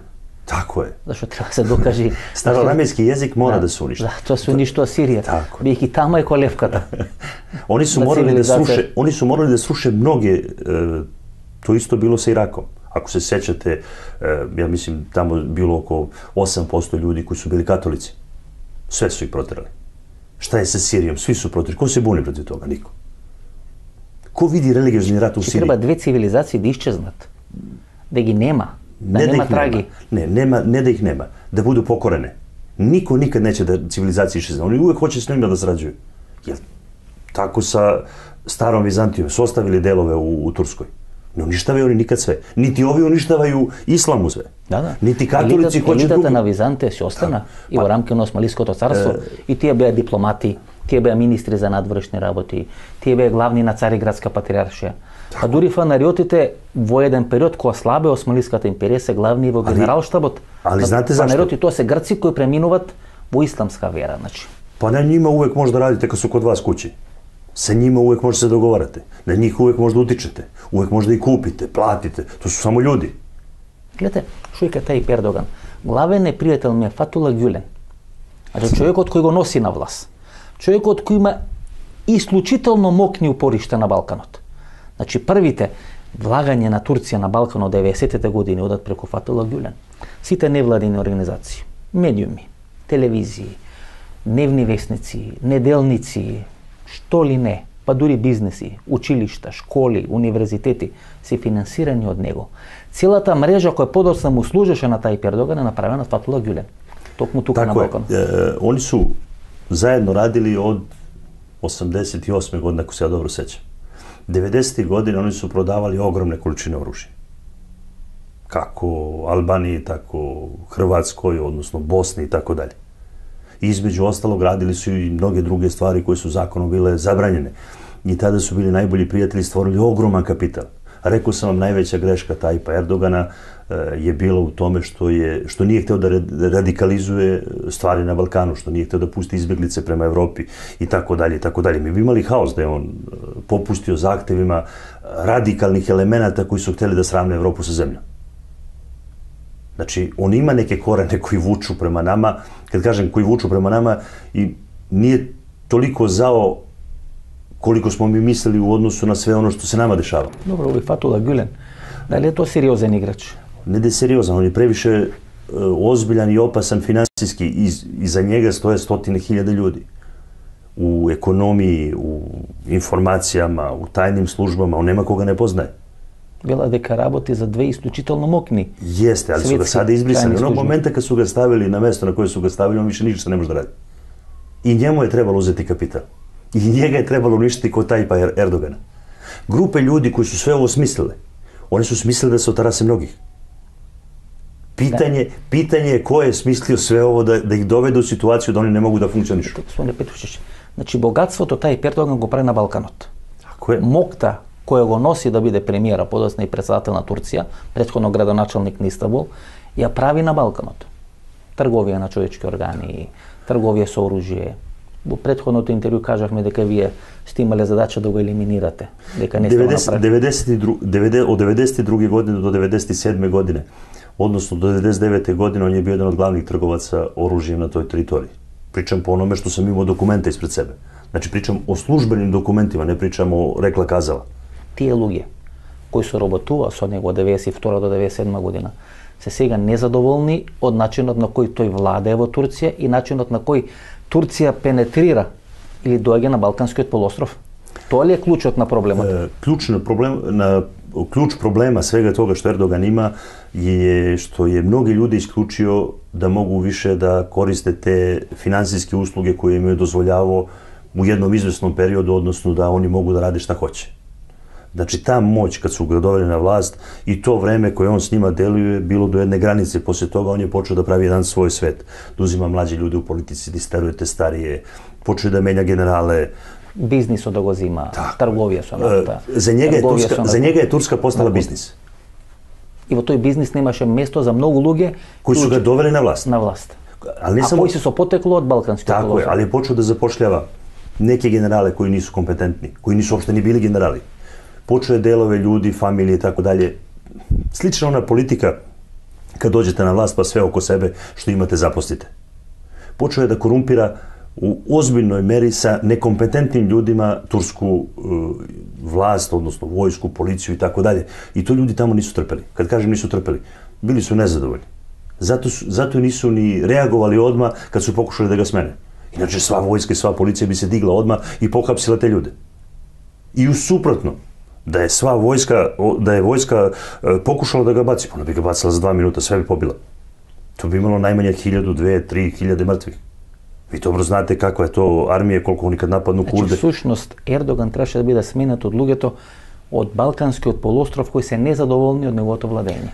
Тако е. Зашто треба се докажи. Староарамејски јазик мора да се уништи. Да, тоа се уништува Сирија. Бидејќи таму е колевката. Они су морали да сруше многе, тоа исто било со Ираком. Ако се сеќате, ја мислим, тамо било околу 8% луѓи кои су били католици. Све су их протерали. Шта е со Сиријом? Сви су протерали. Кој се буни против тога? Нико. Ко види религиозни рат у Сирија? Треба две цивилизации да исчезнат. Да ги нема. Да нема траги. Не да их нема. Да буду покорене. Нико никад неќе да цивилизација исчезне. Они увек хоче с ними да сраđуju. Тако са старом Византијом се оставили делове у Турској. Не уништавају они никад све. Нити ови уништавају исламу све. Да. Нити католици хоче друго. Елитата на Византија се остана и во рамки на Османлиското царство и тие беа дипломати, тие беа министри за надворешни работи, тие беа главни на Цариградска патриаршија. А дури фанариотите во еден период кога слабе Османлиската империја се главни во генералштабот. Али знаете зашто? Фанариоти тоа се грци кои преминуваат во исламска вера, значи. Па на нима увек може да радите кога су код вас куќи. Sa njima uvek možete se dogovarate. Na njih uvek možda utičete. Uvek možda i kupite, platite. To su samo ljudi. Гледате, Шујка Тајип Ердоган. Главен непријател ми е Фатула Гюлен. Значи, човекот кој го носи на власт. Човекот кој има исклучително мокни упоришта на Балканот. Значи, првите влагање на Турција на Балканот 90-те години одат преку Фатула Гюлен. Сите невладини организации, медиуми, телевизии, дневни весници, неделници, што ли не, па дури бизнеси, училишта, школи, универзитети се финансирани од него. Целата мрежа која подоцна му служеше на Тајип Ердоган е направена од Фатула Гюлен. Токму тука на Балкан. Они су заедно радили од 88. година, ако се ја добро сеќам. 90. години они су продавали огромне количини оружје. Како Албанiji, тако Хрватској, односно Босни и тако даље. Измеđu ostalog radili su i mnoge druge stvari koje su zakonom bile zabranjene. I tada su bili najbolji prijatelji, stvorili ogroman kapital. Rekao sam vam, najveća greška Tajipa Erdogana je bila u tome što nije hteo da radikalizuje stvari na Balkanu, što nije hteo da pusti izbjeglice prema Evropi i tako dalje i tako dalje. Mi bi imali haos da je on popustio zahtevima radikalnih elemenata koji su hteli da sravne Evropu sa zemljom. Znači, on ima neke korene koji vuču prema nama, kad kažem koji vuču prema nama, i nije toliko zao koliko smo mi mislili u odnosu na sve ono što se nama dešava. Dobro, ovi Fethullah Gülen, da li je to seriozan igrač? Ne da je seriozan, on je previše ozbiljan i opasan finansijski. Iza njega stoje 100.000 ljudi. U ekonomiji, u informacijama, u tajnim službama, on nema koga ne poznaje. Vela дека работи за две исклучително мокни. Jeste, ali su ga sada izbrisali. Onog momenta kad su ga stavili na mesto na koje su ga stavili, on više ništa ne može da radi. I njemu je trebalo uzeti kapital. I njega je trebalo uništiti kod Tajipa Erdogana. Grupe ljudi koji su sve ovo smislile, oni su smislili da se otarase mnogih. Pitanje je ko je smislio sve ovo da ih dovede u situaciju da oni ne mogu da funkcionišu. Gospodine Петрушевич, значи богатството Тајип Ердоган го прави на Балканот. Тако е. Мокта која го носи да биде премиера, подоцна и председател на Турција, претходно градоначалник на Истанбул, ја прави на Балканот. Трговија на човечки органи, трговија со оружје. Во претходното интервју кажавме дека вие сте имале задача да го елиминирате, дека не сте го направили. Од 92. години до 97. године, односно до 99. година, он е био еден од главних трговаца оружјем на тој територија. Причам по ономе што сам имал документа испред себе. Значи, причам о службеним документима, не причам о рекла-казала. Тие луѓе кои се работува со него од 92 до 97 година се сега незадоволни од начинот на кој тој владее во Турција и начинот на кој Турција пенетрира или доаѓа на Балканскиот полуостров. Тоа ли е клучот на проблемот? Клjuč problema svega toga što Erdogan ima je što je mnogi ljudi isključio da mogu više da koriste te finansijske usluge koje im je dozvoljavao u jednom izvesnom periodu, odnosno da oni mogu da rade šta hoće. Znači, ta moć kad su ga doveli na vlast i to vreme koje on s njima deluje bilo do jedne granice. Poslije toga on je počeo da pravi jedan svoj svet. Da uzima mlađe ljude u politici, da isteruje te starije, počeo da menja generale. Biznis od го zima, trgovија со нафта. За njega je Turska postala biznis. И во тој бизнис немаше место за многу луѓе кои su ga doveli na vlast. А кои се со потекло од Балканскиот полуостров. Tako je, ali je počeo da zapošljava neke generale koji nisu kompetentni, koji nisu uopšte ni bili generali. Počeo je delove ljudi, familije i tako dalje. Slična ona politika kad dođete na vlast pa sve oko sebe što imate zaposlite. Počeo je da korumpira u ozbiljnoj meri sa nekompetentnim ljudima tursku vlast, odnosno vojsku, policiju i tako dalje. I to ljudi tamo nisu trpeli. Kad kažem nisu trpeli, bili su nezadovoljni. Zato nisu ni reagovali odmah kad su pokušali da ga smene. Inače, sva vojska i sva policija bi se digla odmah i pohapsila te ljude. I u suprotno, da je vojska pokušala da ga baci, ona bi ga bacila za 2 minuta, sve bi pobila. To bi imalo najmanje 1000, 2, 3.000 mrtvih. Vi dobro znate kakva je to armija, koliko oni kad napadnu Kurde. Значи, всушност, Ердоган требаше да биде сменет од луѓето од Балканскиот полуостров кои се незадоволни од неговото владење.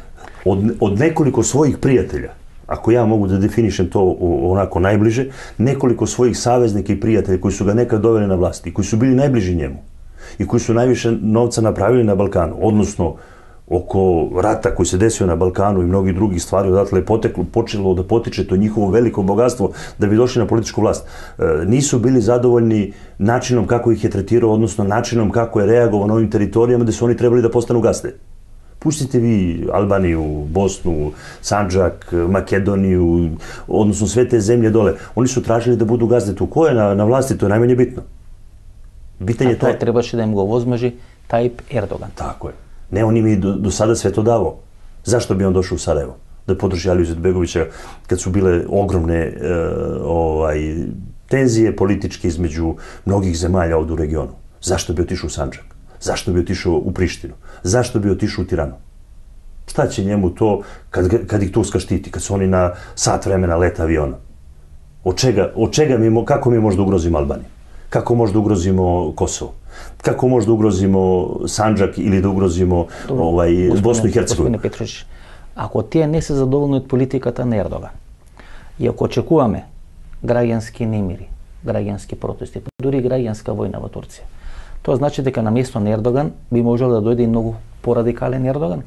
Od nekoliko svojih prijatelja, ako ja mogu da definišem to onako najbliže, nekoliko svojih saveznika i prijatelja koji su ga nekad doveli na vlast i koji su bili najbliži njemu i koji su najviše novca napravili na Balkanu, odnosno oko rata koji se desio na Balkanu i mnogih drugih stvari, odatle je počelo da potiče to njihovo veliko bogatstvo da bi došli na političku vlast. Nisu bili zadovoljni načinom kako ih je tretirao, odnosno načinom kako je reagovao na ovim teritorijama gde su oni trebali da postanu gazde. Pustite vi Albaniju, Bosnu, Sandžak, Makedoniju, odnosno sve te zemlje dole. Oni su tražili da budu gazde tu. Ko je na vlasti, to je najmanje bitno. A to trebаше да им го возможи Тајип Ердоган. Tako je. Ne, on im je do sada sve to davao. Zašto bi on došao u Sarajevo? Da podrži Aliju Izetbegovića kad su bile ogromne tenzije političke između mnogih zemalja ovdje u regionu. Zašto bi otišao u Sandžak? Zašto bi otišao u Prištinu? Zašto bi otišao u Tiranu? Šta će njemu to kad ih Turska štiti, kad su oni na sat vremena leta aviona? Kako mi možda ugrozimo Albaniju? Kako možda ugrozimo Kosovo? Kako možda ugrozimo Sandžak ili da ugrozimo Bosnu i Hercegovinu? Господине Петрович, ако тие не се задоволни од политиката на Ердоган и ако очекуваме граѓански немири, граѓански протести, дури граѓанска војна во Турција, тоа значи дека на место на Ердоган би можел да дојде и многу порадикален Ердоган.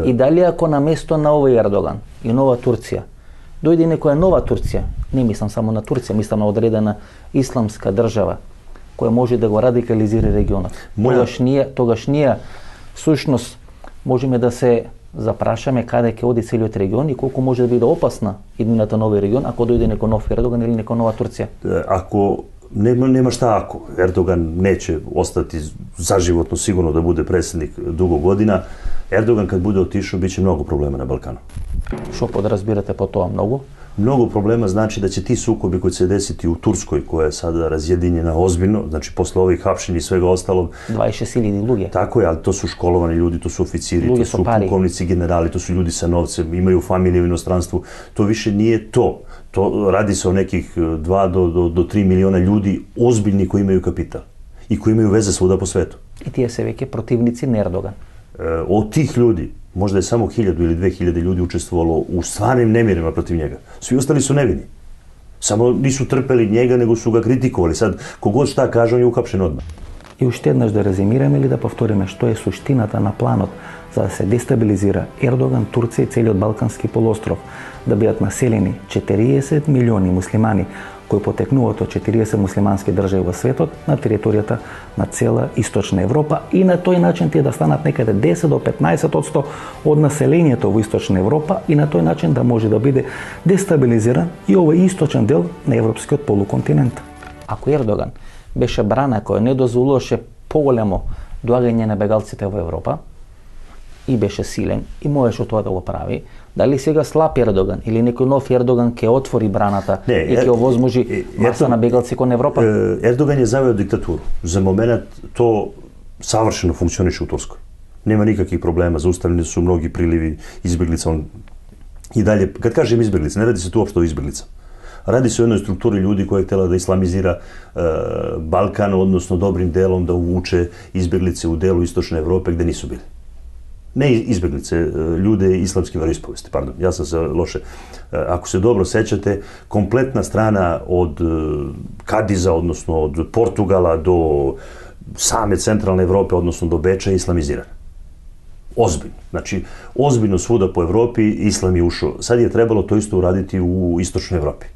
И дали ако на место на овој Ердоган и нова Турција дојде некоја нова Турција, не мислам само на Турција, мислам на одредена исламска држава која може да го радикализира регионот. Тогаш ние сушност можеме да се запрашаме каде ќе оди целиот регион и колку може да биде опасна иднината на овој регион ако дојде некој нов Ердоган или некоја нова Турција. Ако nema šta ako. Erdogan neće ostati zaživotno sigurno da bude predsjednik dugo godina. Erdogan kad bude otišao biće mnogo problema na Balkanu. Što podrazbirate po toga mnogo? Mnogo problema znači da će ti sukobi koji će se desiti u Turskoj, koja je sada razjedinjena ozbiljno, znači posle ovih hapšenja i svega ostalog. 26.000 ljudi. Tako je, ali to su školovani ljudi, to su oficiri, to su pukovnici, generali, to su ljudi sa novcem, imaju familije u inostranstvu. To više nije to. To radi se o nekih 2 do 3 miliona ljudi ozbiljni koji imaju kapital i koji imaju veze svuda po svetu. I tije se veke protivnici na Erdogan. Od tih ljudi, možda je samo 1000 ili 2000 ljudi učestvovalo u stvarnim nemirima protiv njega. Svi ostali su nevini. Samo nisu trpeli njega, nego su ga kritikovali. Sad, kogod šta kaže, on je uhapšen odmah. И уште еднаш да резимираме или да повториме што е суштината на планот за да се дестабилизира Ердоган, Турција и целиот Балкански полуостров, да бидат населени 40 милиони муслимани кои потекнуваат од 40 муслимански држави во светот на територијата на цела Источна Европа и на тој начин тие да станат некаде 10 до 15% од населението во Источна Европа и на тој начин да може да биде дестабилизиран и овој источен дел на европскиот полуконтинент. Ако Ердоган беше брана која не дозволуваше поголемо доагање на бегалците во Европа и беше силен и можеше тоа да го прави, Дали сега слаб Ердоган или некој нов Ердоган ќе отвори браната и ќе овозможи маса на бегалци кон Европа? Ердоган е завео диктатуру. За моментот то савршено функционише у Турској. Нема никакви проблема, зауставени су многи приливи избеглица. И далje, kad kažem izbjeglica, ne radi se tu uopšte o izbjeglica. Radi se o jednoj strukturi ljudi koja je htjela da islamizira Balkan, odnosno dobrim delom da uvuče izbjeglice u delu istočne Evrope gde nisu bili. Ne izbjeglice, ljude islamske veroispovesti, pardon, ja sam se loše. Ako se dobro sećate, kompletna strana od Kadiza, odnosno od Portugala do same centralne Evrope, odnosno do Beča je islamizirana. Ozbiljno. Znači, ozbiljno svuda po Evropi islam je ušao. Sad je trebalo to isto uraditi u istočnoj Evropi.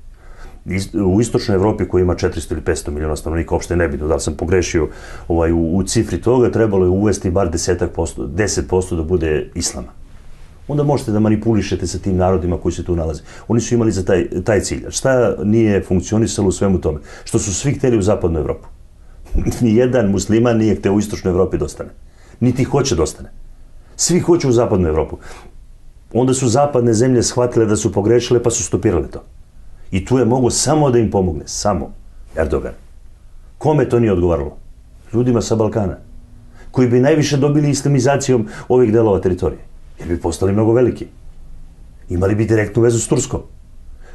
U istočnoj Evropi koja ima 400 ili 500 miliona stanovnika, uopšte ne bitno da li sam pogrešio u cifri toga, trebalo je uvesti bar 10% da bude islama. Onda možete da manipulišete sa tim narodima koji se tu nalaze. Oni su imali za taj cilj. Šta nije funkcionisalo u svemu tome? Što su svi hteli u zapadnu Evropu. Nijedan musliman nije hteo u istočnoj Evropi da ostane. Niti hoće da ostane. Svi hoće u zapadnu Evropu. Onda su zapadne zemlje shvatile da su pogrešile pa su stopirale to. I tu je mogo samo da im pomogne. Samo. Erdogan. Kome to nije odgovaralo? Ljudima sa Balkana. Koji bi najviše dobili islamizacijom ovih delova teritorije. Jer bi postali mnogo veliki. Imali bi direktnu vezu s Turskom.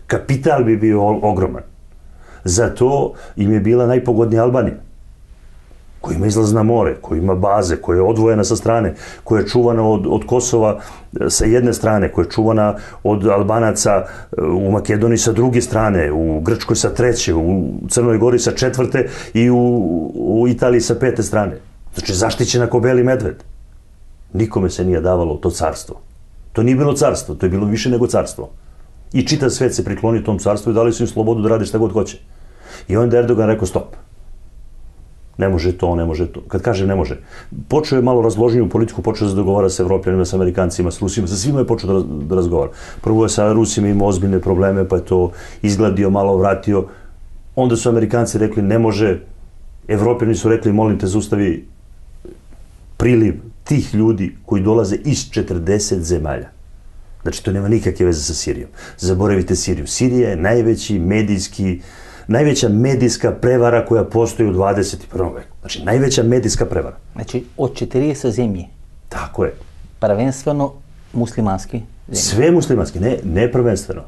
Kapital bi bio ogroman. Zato im je bila najpogodnija Albanija. Koja ima izlaz na more, koja ima baze, koja je odvojena sa strane, koja je čuvana od Kosova sa jedne strane, koja je čuvana od Albanaca u Makedoniji sa druge strane, u Grčkoj sa treće, u Crnoj Gori sa četvrte i u Italiji sa pete strane. Znači, zaštićena ko beli medved. Nikome se nije davalo to carstvo. To nije bilo carstvo, to je bilo više nego carstvo. I čitav svet se priklonio tom carstvu i dali su im slobodu da rade šta god hoće. I onda Erdogan rekao stop. Ne može to, ne može to. Kad kažem ne može, počeo je malo razloženju politiku, počeo je da dogovara sa Evropljanima, sa Amerikancima, sa Rusima, sa svima je počeo da razgovara. Prvo je sa Rusima imao ozbiljne probleme, pa je to izgladio, malo vratio. Onda su Amerikanci rekli ne može, Evropljani su rekli molim te zaustavi priliv tih ljudi koji dolaze iz 40 zemalja. Znači to nema nikakve veze sa Sirijom. Zaboravite Siriju. Sirija je najveća medijska prevara koja postoji u 21. veku. Znači, najveća medijska prevara. Znači, od 40 zemlji. Tako je. Prvenstveno muslimanski zemlji. Sve muslimanski, ne prvenstveno.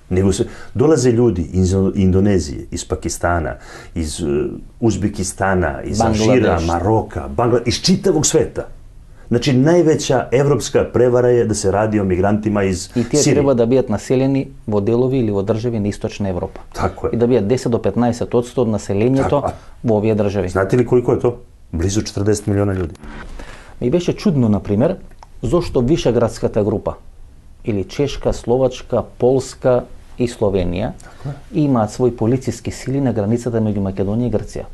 Nego dolaze ljudi iz Indonezije, iz Pakistana, iz Uzbekistana, iz Alžira, Maroka, iz čitavog sveta. Znači, najveća evropska prevara je da se radi o migrantima iz Sirije. I tije treba da бидат населени во делови или во држави на Источна Европа. Tako je. И да бидат 10 до 15% од населењето во овие држави. Знате ли колико е то? Близу 40 милиона људи. Ми беше чудно, например, зошто Вишеградската група, или Чешка, Словачка, Полска и Словенија, имаат своји полициски сили на границата меѓу Македонија и Грција.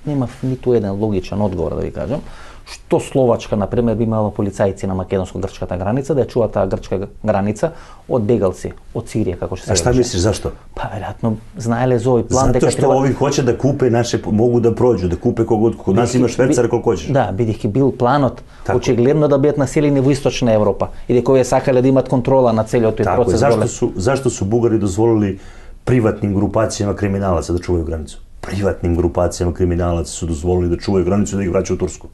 Нема ниту еден логичен одговор, да ви кажам. Што Словачка, например, би имала полицајци на македонско-грчката граница, да ја чува таа грчка граница од бегалци, од Сирија, како што се А шта мислиш, зашто? Па, веројатно, знаеле за овој план дека што ови хоче да купе наше, могу да проđу, да купе когод, код нас има швецар колку хочеш. Да, бидејќи бил планот, очигледно да бидат населени во Источна Европа, и дека овие сакале да имат контрола на целиот тој процес. Зашто су бугари дозволили приватним групацијама криминалаци да чувају границу? Приватним групацијама криминалаци су дозволили да чувају границу и да ги враќаат у Турску.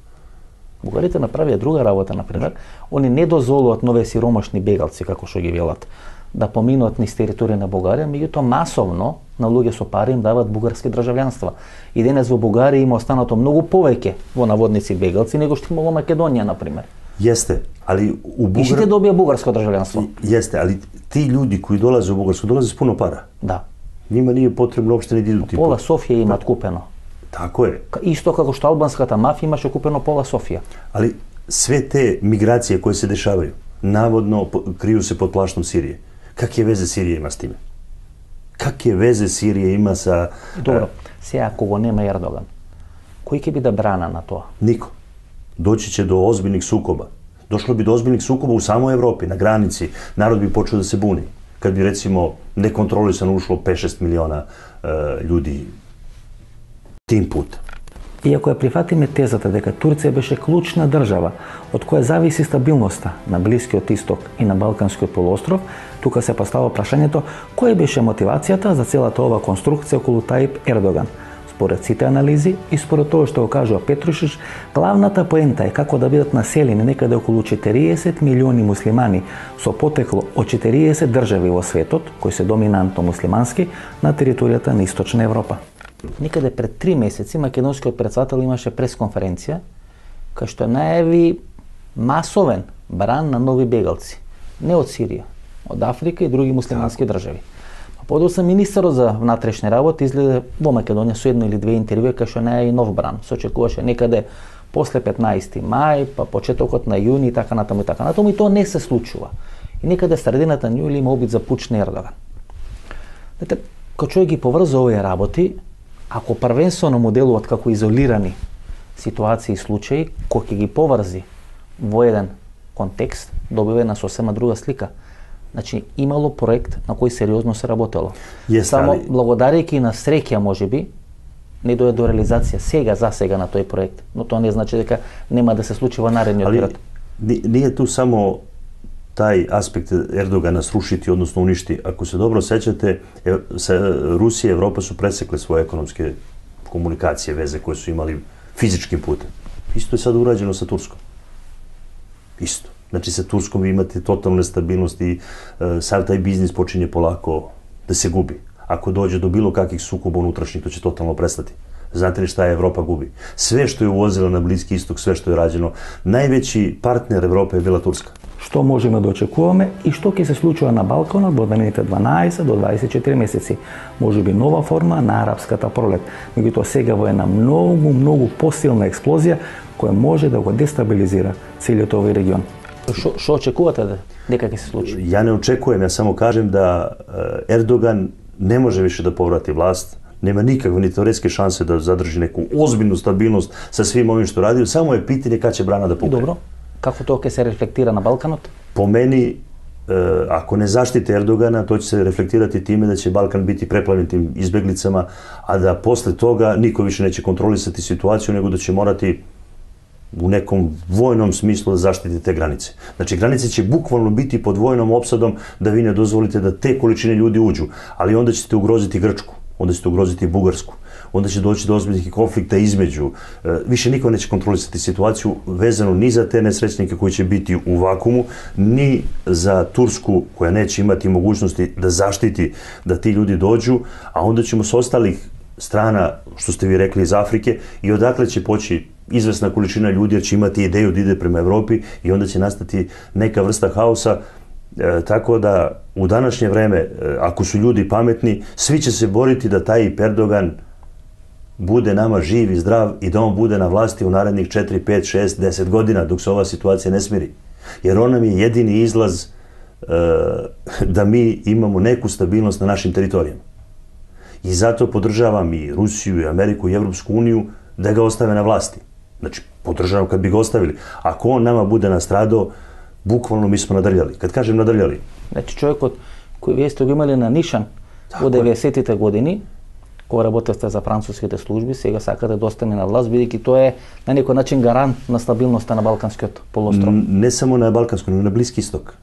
Бугарите направија друга работа, например. Они не дозволуваат нови сиромашни бегалци, како што ги велат, да поминуваат низ територија на Бугарија, меѓутоа масовно на луѓе со пари им даваат бугарски државјанства. И денес во Бугарија има останато многу повеќе во наводници бегалци него што има во Македонија, например. Јесте, али у И ще добија бугарско државјанство. Јесте, али ти луѓи кои долазе во Бугарско долазе с пуно пара. Да. Нима nije потребно опште ни да идут. Пола Софија имаат купено. Тако е. Исто како што албанската мафија имаше купено пола Софија. Али све те миграције кои се дешавају, наводно крију се под плаштом Сирија. Какви везе Сирија има с тиме? Какви везе Сирија има са... Добро, сега ако го нема Ердоган, кој ќе биде брана на тоа? Нико. Доći ќе до озбилних сукоба. Дошло би до озбилних сукоба у самој Европи, на граници. Народ би почел да се буни. Kad bi, recimo, nekontrolisano ušlo 5-6 miliona ljudi tim putem. Иако ја прифатиме тезата дека Турција беше клучна држава од која зависи стабилноста на Блискиот Исток и на Балканскиот полуостров, тука се поставува прашањето која беше мотивацијата за целата ова конструкција околу Тајип Ердоган. Според сите анализи и според тоа што го кажува Петрушич, главната поента е како да бидат населени некаде околу 40 милиони муслимани со потекло од 40 држави во светот, кои се доминантно муслимански, на територијата на Источна Европа. Некаде пред 3 месеци македонскиот претседател имаше пресконференција кај што најави масовен бран на нови бегалци, не од Сирија, од Африка и други муслимански држави. Подоцна министерот за внатрешни работи изгледа во Македонија со едно или две интервјуи кај што најави нов бран. Се очекуваше некаде после 15 мај, па почетокот на јуни и така натаму и така натаму, и тоа не се случува. И некаде средината на јули има обид за пуч на Ердоган. Кога човек ги поврза овие работи, ако првенствено му делуваат како изолирани ситуации и случаи, кој ќе ги поврзи во еден контекст, добива една сосема друга слика. Значи, имало проект на кој сериозно се работело. Само благодарејќи на среќа, можеби, не дојде до реализација за сега на тој проект, но тоа не значи дека нема да се случи во наредниот период. Ние ту само тај аспект Ердогана срушити, односно уништи. Ако се добро сеќате, Русија и Европа су пресекле своје економски комуникација, везе кои су имали физичким путем. Исто е сад ураđено со Турском. Исто. Значи, sa Turskom vi imate totalnu nestabilnost i sav taj biznis počinje polako da se gubi. Ako dođe do bilo kakvih sukoba unutrašnjih, to će totalno prestati. Znate li šta je Evropa gubi? Sve što je uvozila na Bliski istok, sve što je rađeno, najveći partner Evrope je bila Turska. Што можеме да очекуваме и што ќе се случува на Балканот во наредните 12 до 24 месеци? Можеби нова форма на арапската пролет, меѓутоа сега во една многу посилна експлозија која може да го дестабилизира целиот овој регион. Што очекувате дека ќе се случи? Ја не очекувам, ја само кажем да Ердоган не може више да поврати власт, нема никакви ни теоретски шансе да задржи неку озбилну стабилност со свим овим што ради, само е питање кај ќе брана да пукне. Добро. Како тоа ќе се рефлектира на Балканот? По мени, ако не заштите Ердогана, тоа ќе се рефлектирати тиме да ќе Балкан бити преплавен тим избеглицама, а да после тога никој више неќе контролисати ситуацију, него да ќе морати у неком војном смислу да заштити те границе. Значи, границе ќе буквално бити под војном опсадом да ви не дозволите да те количини луѓе уđу, али онда ćete угрозити Грчку, онда ćete угрозити Бугарску, онда ќе дојти до озбилних конфликта измеѓу. Више никој неće контролисати ситуацију везано ни за те несреќники кои ќе бити у вакууму, ни за Турску која неće имати могуćности да заштити да ти луѓе доđu, а онда ćemo со осталих strana, što ste vi rekli, iz Afrike, i odakle će poći izvesna količina ljudi, jer će imati ideju da ide prema Evropi i onda će nastati neka vrsta haosa, tako da u današnje vreme, ako su ljudi pametni, svi će se boriti da taj Erdogan bude nama živ i zdrav i da on bude na vlasti u narednih 4, 5, 6, 10 godina dok se ova situacija ne smiri. Jer on nam je jedini izlaz da mi imamo neku stabilnost na našim teritorijama. I zato podržavam i Rusiju, i Ameriku, i Evropsku uniju da ga ostave na vlasti. Znači, podržavam kad bi ga ostavili. Ako on nama bude nastradao, bukvalno mi smo nadrljali. Kad kažem nadrljali. Значи, човекот кој вие сте го имали на нишан во 90-тите години, кога работевте за француските служби, сега сакате да остане на власт, бидејќи тоа е на некој начин гарант на стабилноста на Балканскиот полуостров. Не само на Балканскиот, но и на Блиски исток.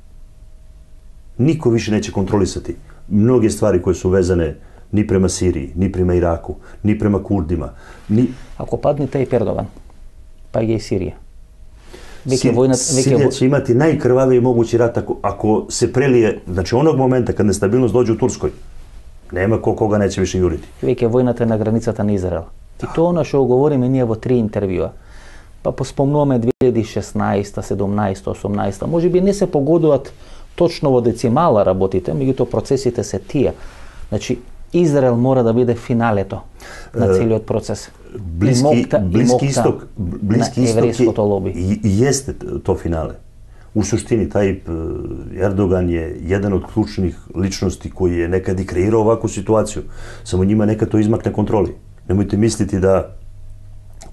Никој више неće контролисати многе ствари кои су везане ни према Сирiji, ни према Ираку, ни према Курдима. Ако падне тај Ердоган, па и Сирија. Сирија ќе имати најкрвавији могуći рат ако се прелие, значи оног момента кад нестабилност доđe у Турској, нема кога неće више јурити. Веќе војната на границата на Израел. И тоа оно што говориме ние во 3 интервјуа. Па поспомнуваме 2016, 17, 18, можеби не се погодуваат точно во децимала работите, меѓутоа процесите се тие. Значи, Израел мора да биде финалето на целиот процес. Блиски исток jeste to finale. U suštini, taj Erdogan je jedan od ključnih ličnosti koji je nekad i kreirao ovakvu situaciju. Samo njima nekad to izmakne kontroli. Nemojte misliti da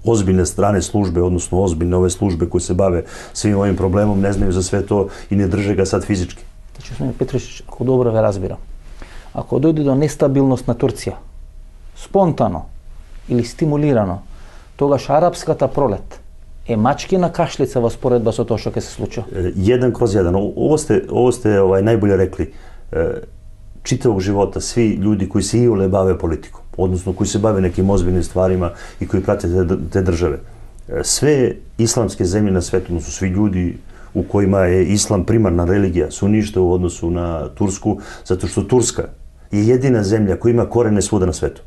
ozbiljne strane službe, odnosno ozbiljne ove službe koje se bave svim ovim problemom, ne znaju za sve to i ne drže ga sad fizički. Znači, gospodine Petrošić, ako dobro ve разбирам, ако дојде до нестабилност на Турција, спонтано или стимулирано, тогаш арапската пролет е мачкина кашлица во споредба со тоа што ќе се случи. 1/1. Ово сте најболе рекли. Читавog живота сви луѓи кои се иоле баве политиком, односно кои се баве неким озбилни стварима и кои прате те државе. Све исламски земји на светот, односно сви луѓи у којima е ислам примарна религија, се уништаа во односу на Турску, затоа што Турска е едина земја која има корене свуда на светот.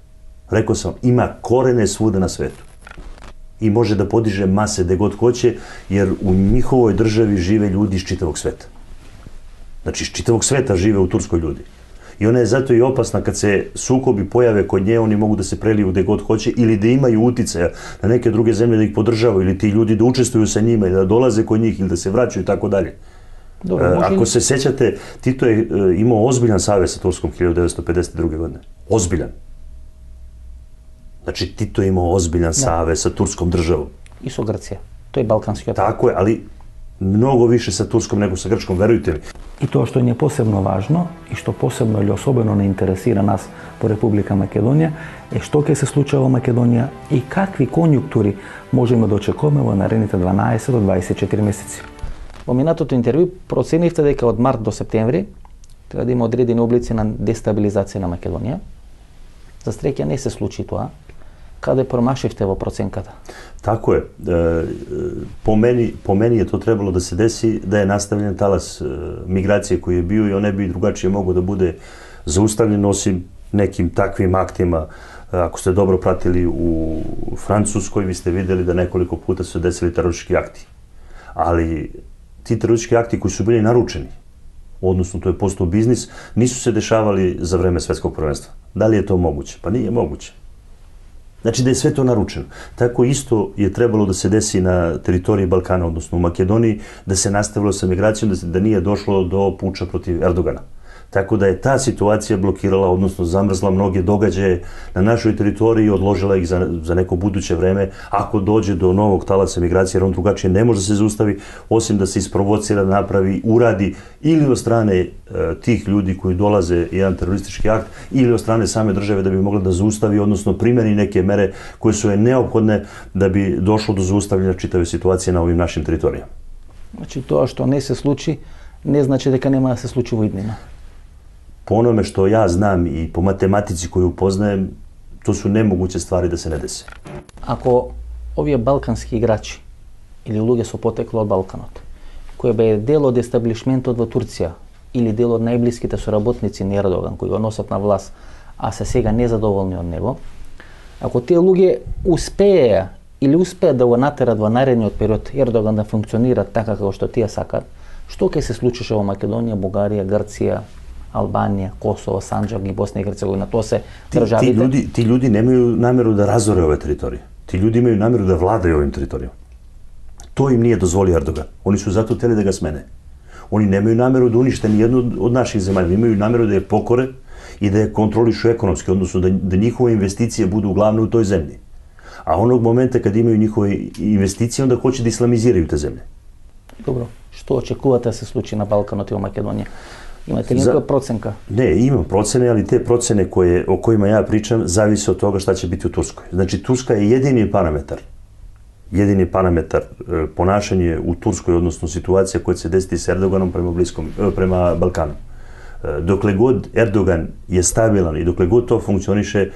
Рекол сам, има корене свуда на светот. И може да подиже масе де год хоće, jer у ниховој држави живе луѓи из читавog света. Значи, из читавог света живе у Турској луѓи. И она е зато и опасна kad se sukobi pojave kod nje, oni mogu da se preliju gde god hoće ili da imaju uticaja na neke druge zemlje da ih podržavaju ili ti ljudi da učestvuju sa njima i da dolaze kod njih ili da se vraćaju i tako dalje. Ako se sećate, Tito je imao ozbiljan savez sa Turskom 1952. godine. Ozbiljan. Znači, Tito je imao ozbiljan savez sa Turskom državom. I со Грција. Тој е балкански отвор. Tako je, ali mnogo više sa Turskom nego sa Grčkom, verujte mi. И тоа што ни е посебно важно и што посебно или особено не интересира нас по Република Македонија е што ќе се случува во Македонија и какви конјунктури можеме да очекуваме во наредните 12 до 24 месеци. Во минатото интервју проценивте дека од март до септември треба да има одредени облици на дестабилизација на Македонија. За среќа не се случи тоа. Каде промашивте во проценката? Tako je. Po meni je to trebalo da se desi da je nastavljen talas migracije koji je bio i on ne bi drugačije mogao da bude zaustavljen osim nekim takvim aktima. Ako ste dobro pratili u Francuskoj, vi ste videli da nekoliko puta su desili teroristički akti. Ali ti teroristički akti koji su bili naručeni, odnosno to je postao biznis, nisu se dešavali za vreme svetskog prvenstva. Da li je to moguće? Pa nije moguće. Znači da je sve to naručeno. Tako isto je trebalo da se desi na teritoriji Balkana, odnosno u Makedoniji, da se nastavilo sa migracijom, da nije došlo do puča protiv Erdogana. Tako da je ta situacija blokirala, odnosno zamrzla mnoge događaje na našoj teritoriji i odložila ih za neko buduće vreme, ako dođe do novog talasa migracije, jer on drugačije ne može da se zaustavi, osim da se isprovocira, napravi, uradi ili od strane tih ljudi koji dolaze jedan teroristički akt, ili od strane same države da bi mogla da zaustavi, odnosno primeni neke mere koje su je neophodne da bi došlo do zaustavljanja čitave situacije na ovim našim teritorijama. Znači, тоа што не се случи, не значи дека нема да се случи во иднина. Po onome što ja znam i po matematici koju poznajem, to su nemoguće stvari da se ne dese. Ако овие балкански играчи или луѓе со потекло од Балканот, кои бе дел од естаблишментот во Турција или дел од најблиските соработници на Ердоган, кои го носат на власт, а се сега незадоволни од него, ако тие луѓе успееја или успеат да го натерат во наредниот период Ердоган да функционира така како што тие сакат, што ќе се случише во Македонија, Бугарија, Грција, Албанија, Косово, Санџак и Босна и Херцеговина, тоа се државите. Ti ljudi nemaju nameru da razore ove teritorije. Ti ljudi imaju nameru da vladaju ovim teritorijama. To im nije dozvolio Erdogan. Oni su zato hteli da ga smene. Oni nemaju nameru da unište ni jednu od naših zemalja. Imaju nameru da je pokore i da je kontrolišu ekonomski, odnosno da njihove investicije budu uglavnom u toj zemlji. A onog momenta kad imaju njihove investicije, onda hoće da islamiziraju te zemlje. Dobro, што очекувате да се случи на Балканот и во Македонија? Имате ли некоја проценка? Ne, imam procene, ali te procene o kojima ja pričam zavise od toga šta će biti u Turskoj. Znači, Turska je jedini parametar ponašanje u Turskoj, odnosno situacija koja će se desiti s Erdoganom prema Balkanu. Dokle god Erdogan je stabilan i dokle god to funkcioniše,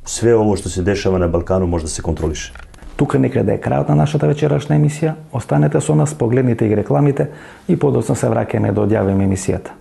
sve ovo što se dešava na Balkanu može da se kontroliše. Тука некаде е крајот на нашата вечерашна емисија. Останете со нас, погледнете и рекламите и подоцна се враќаме да одјавиме емисијата.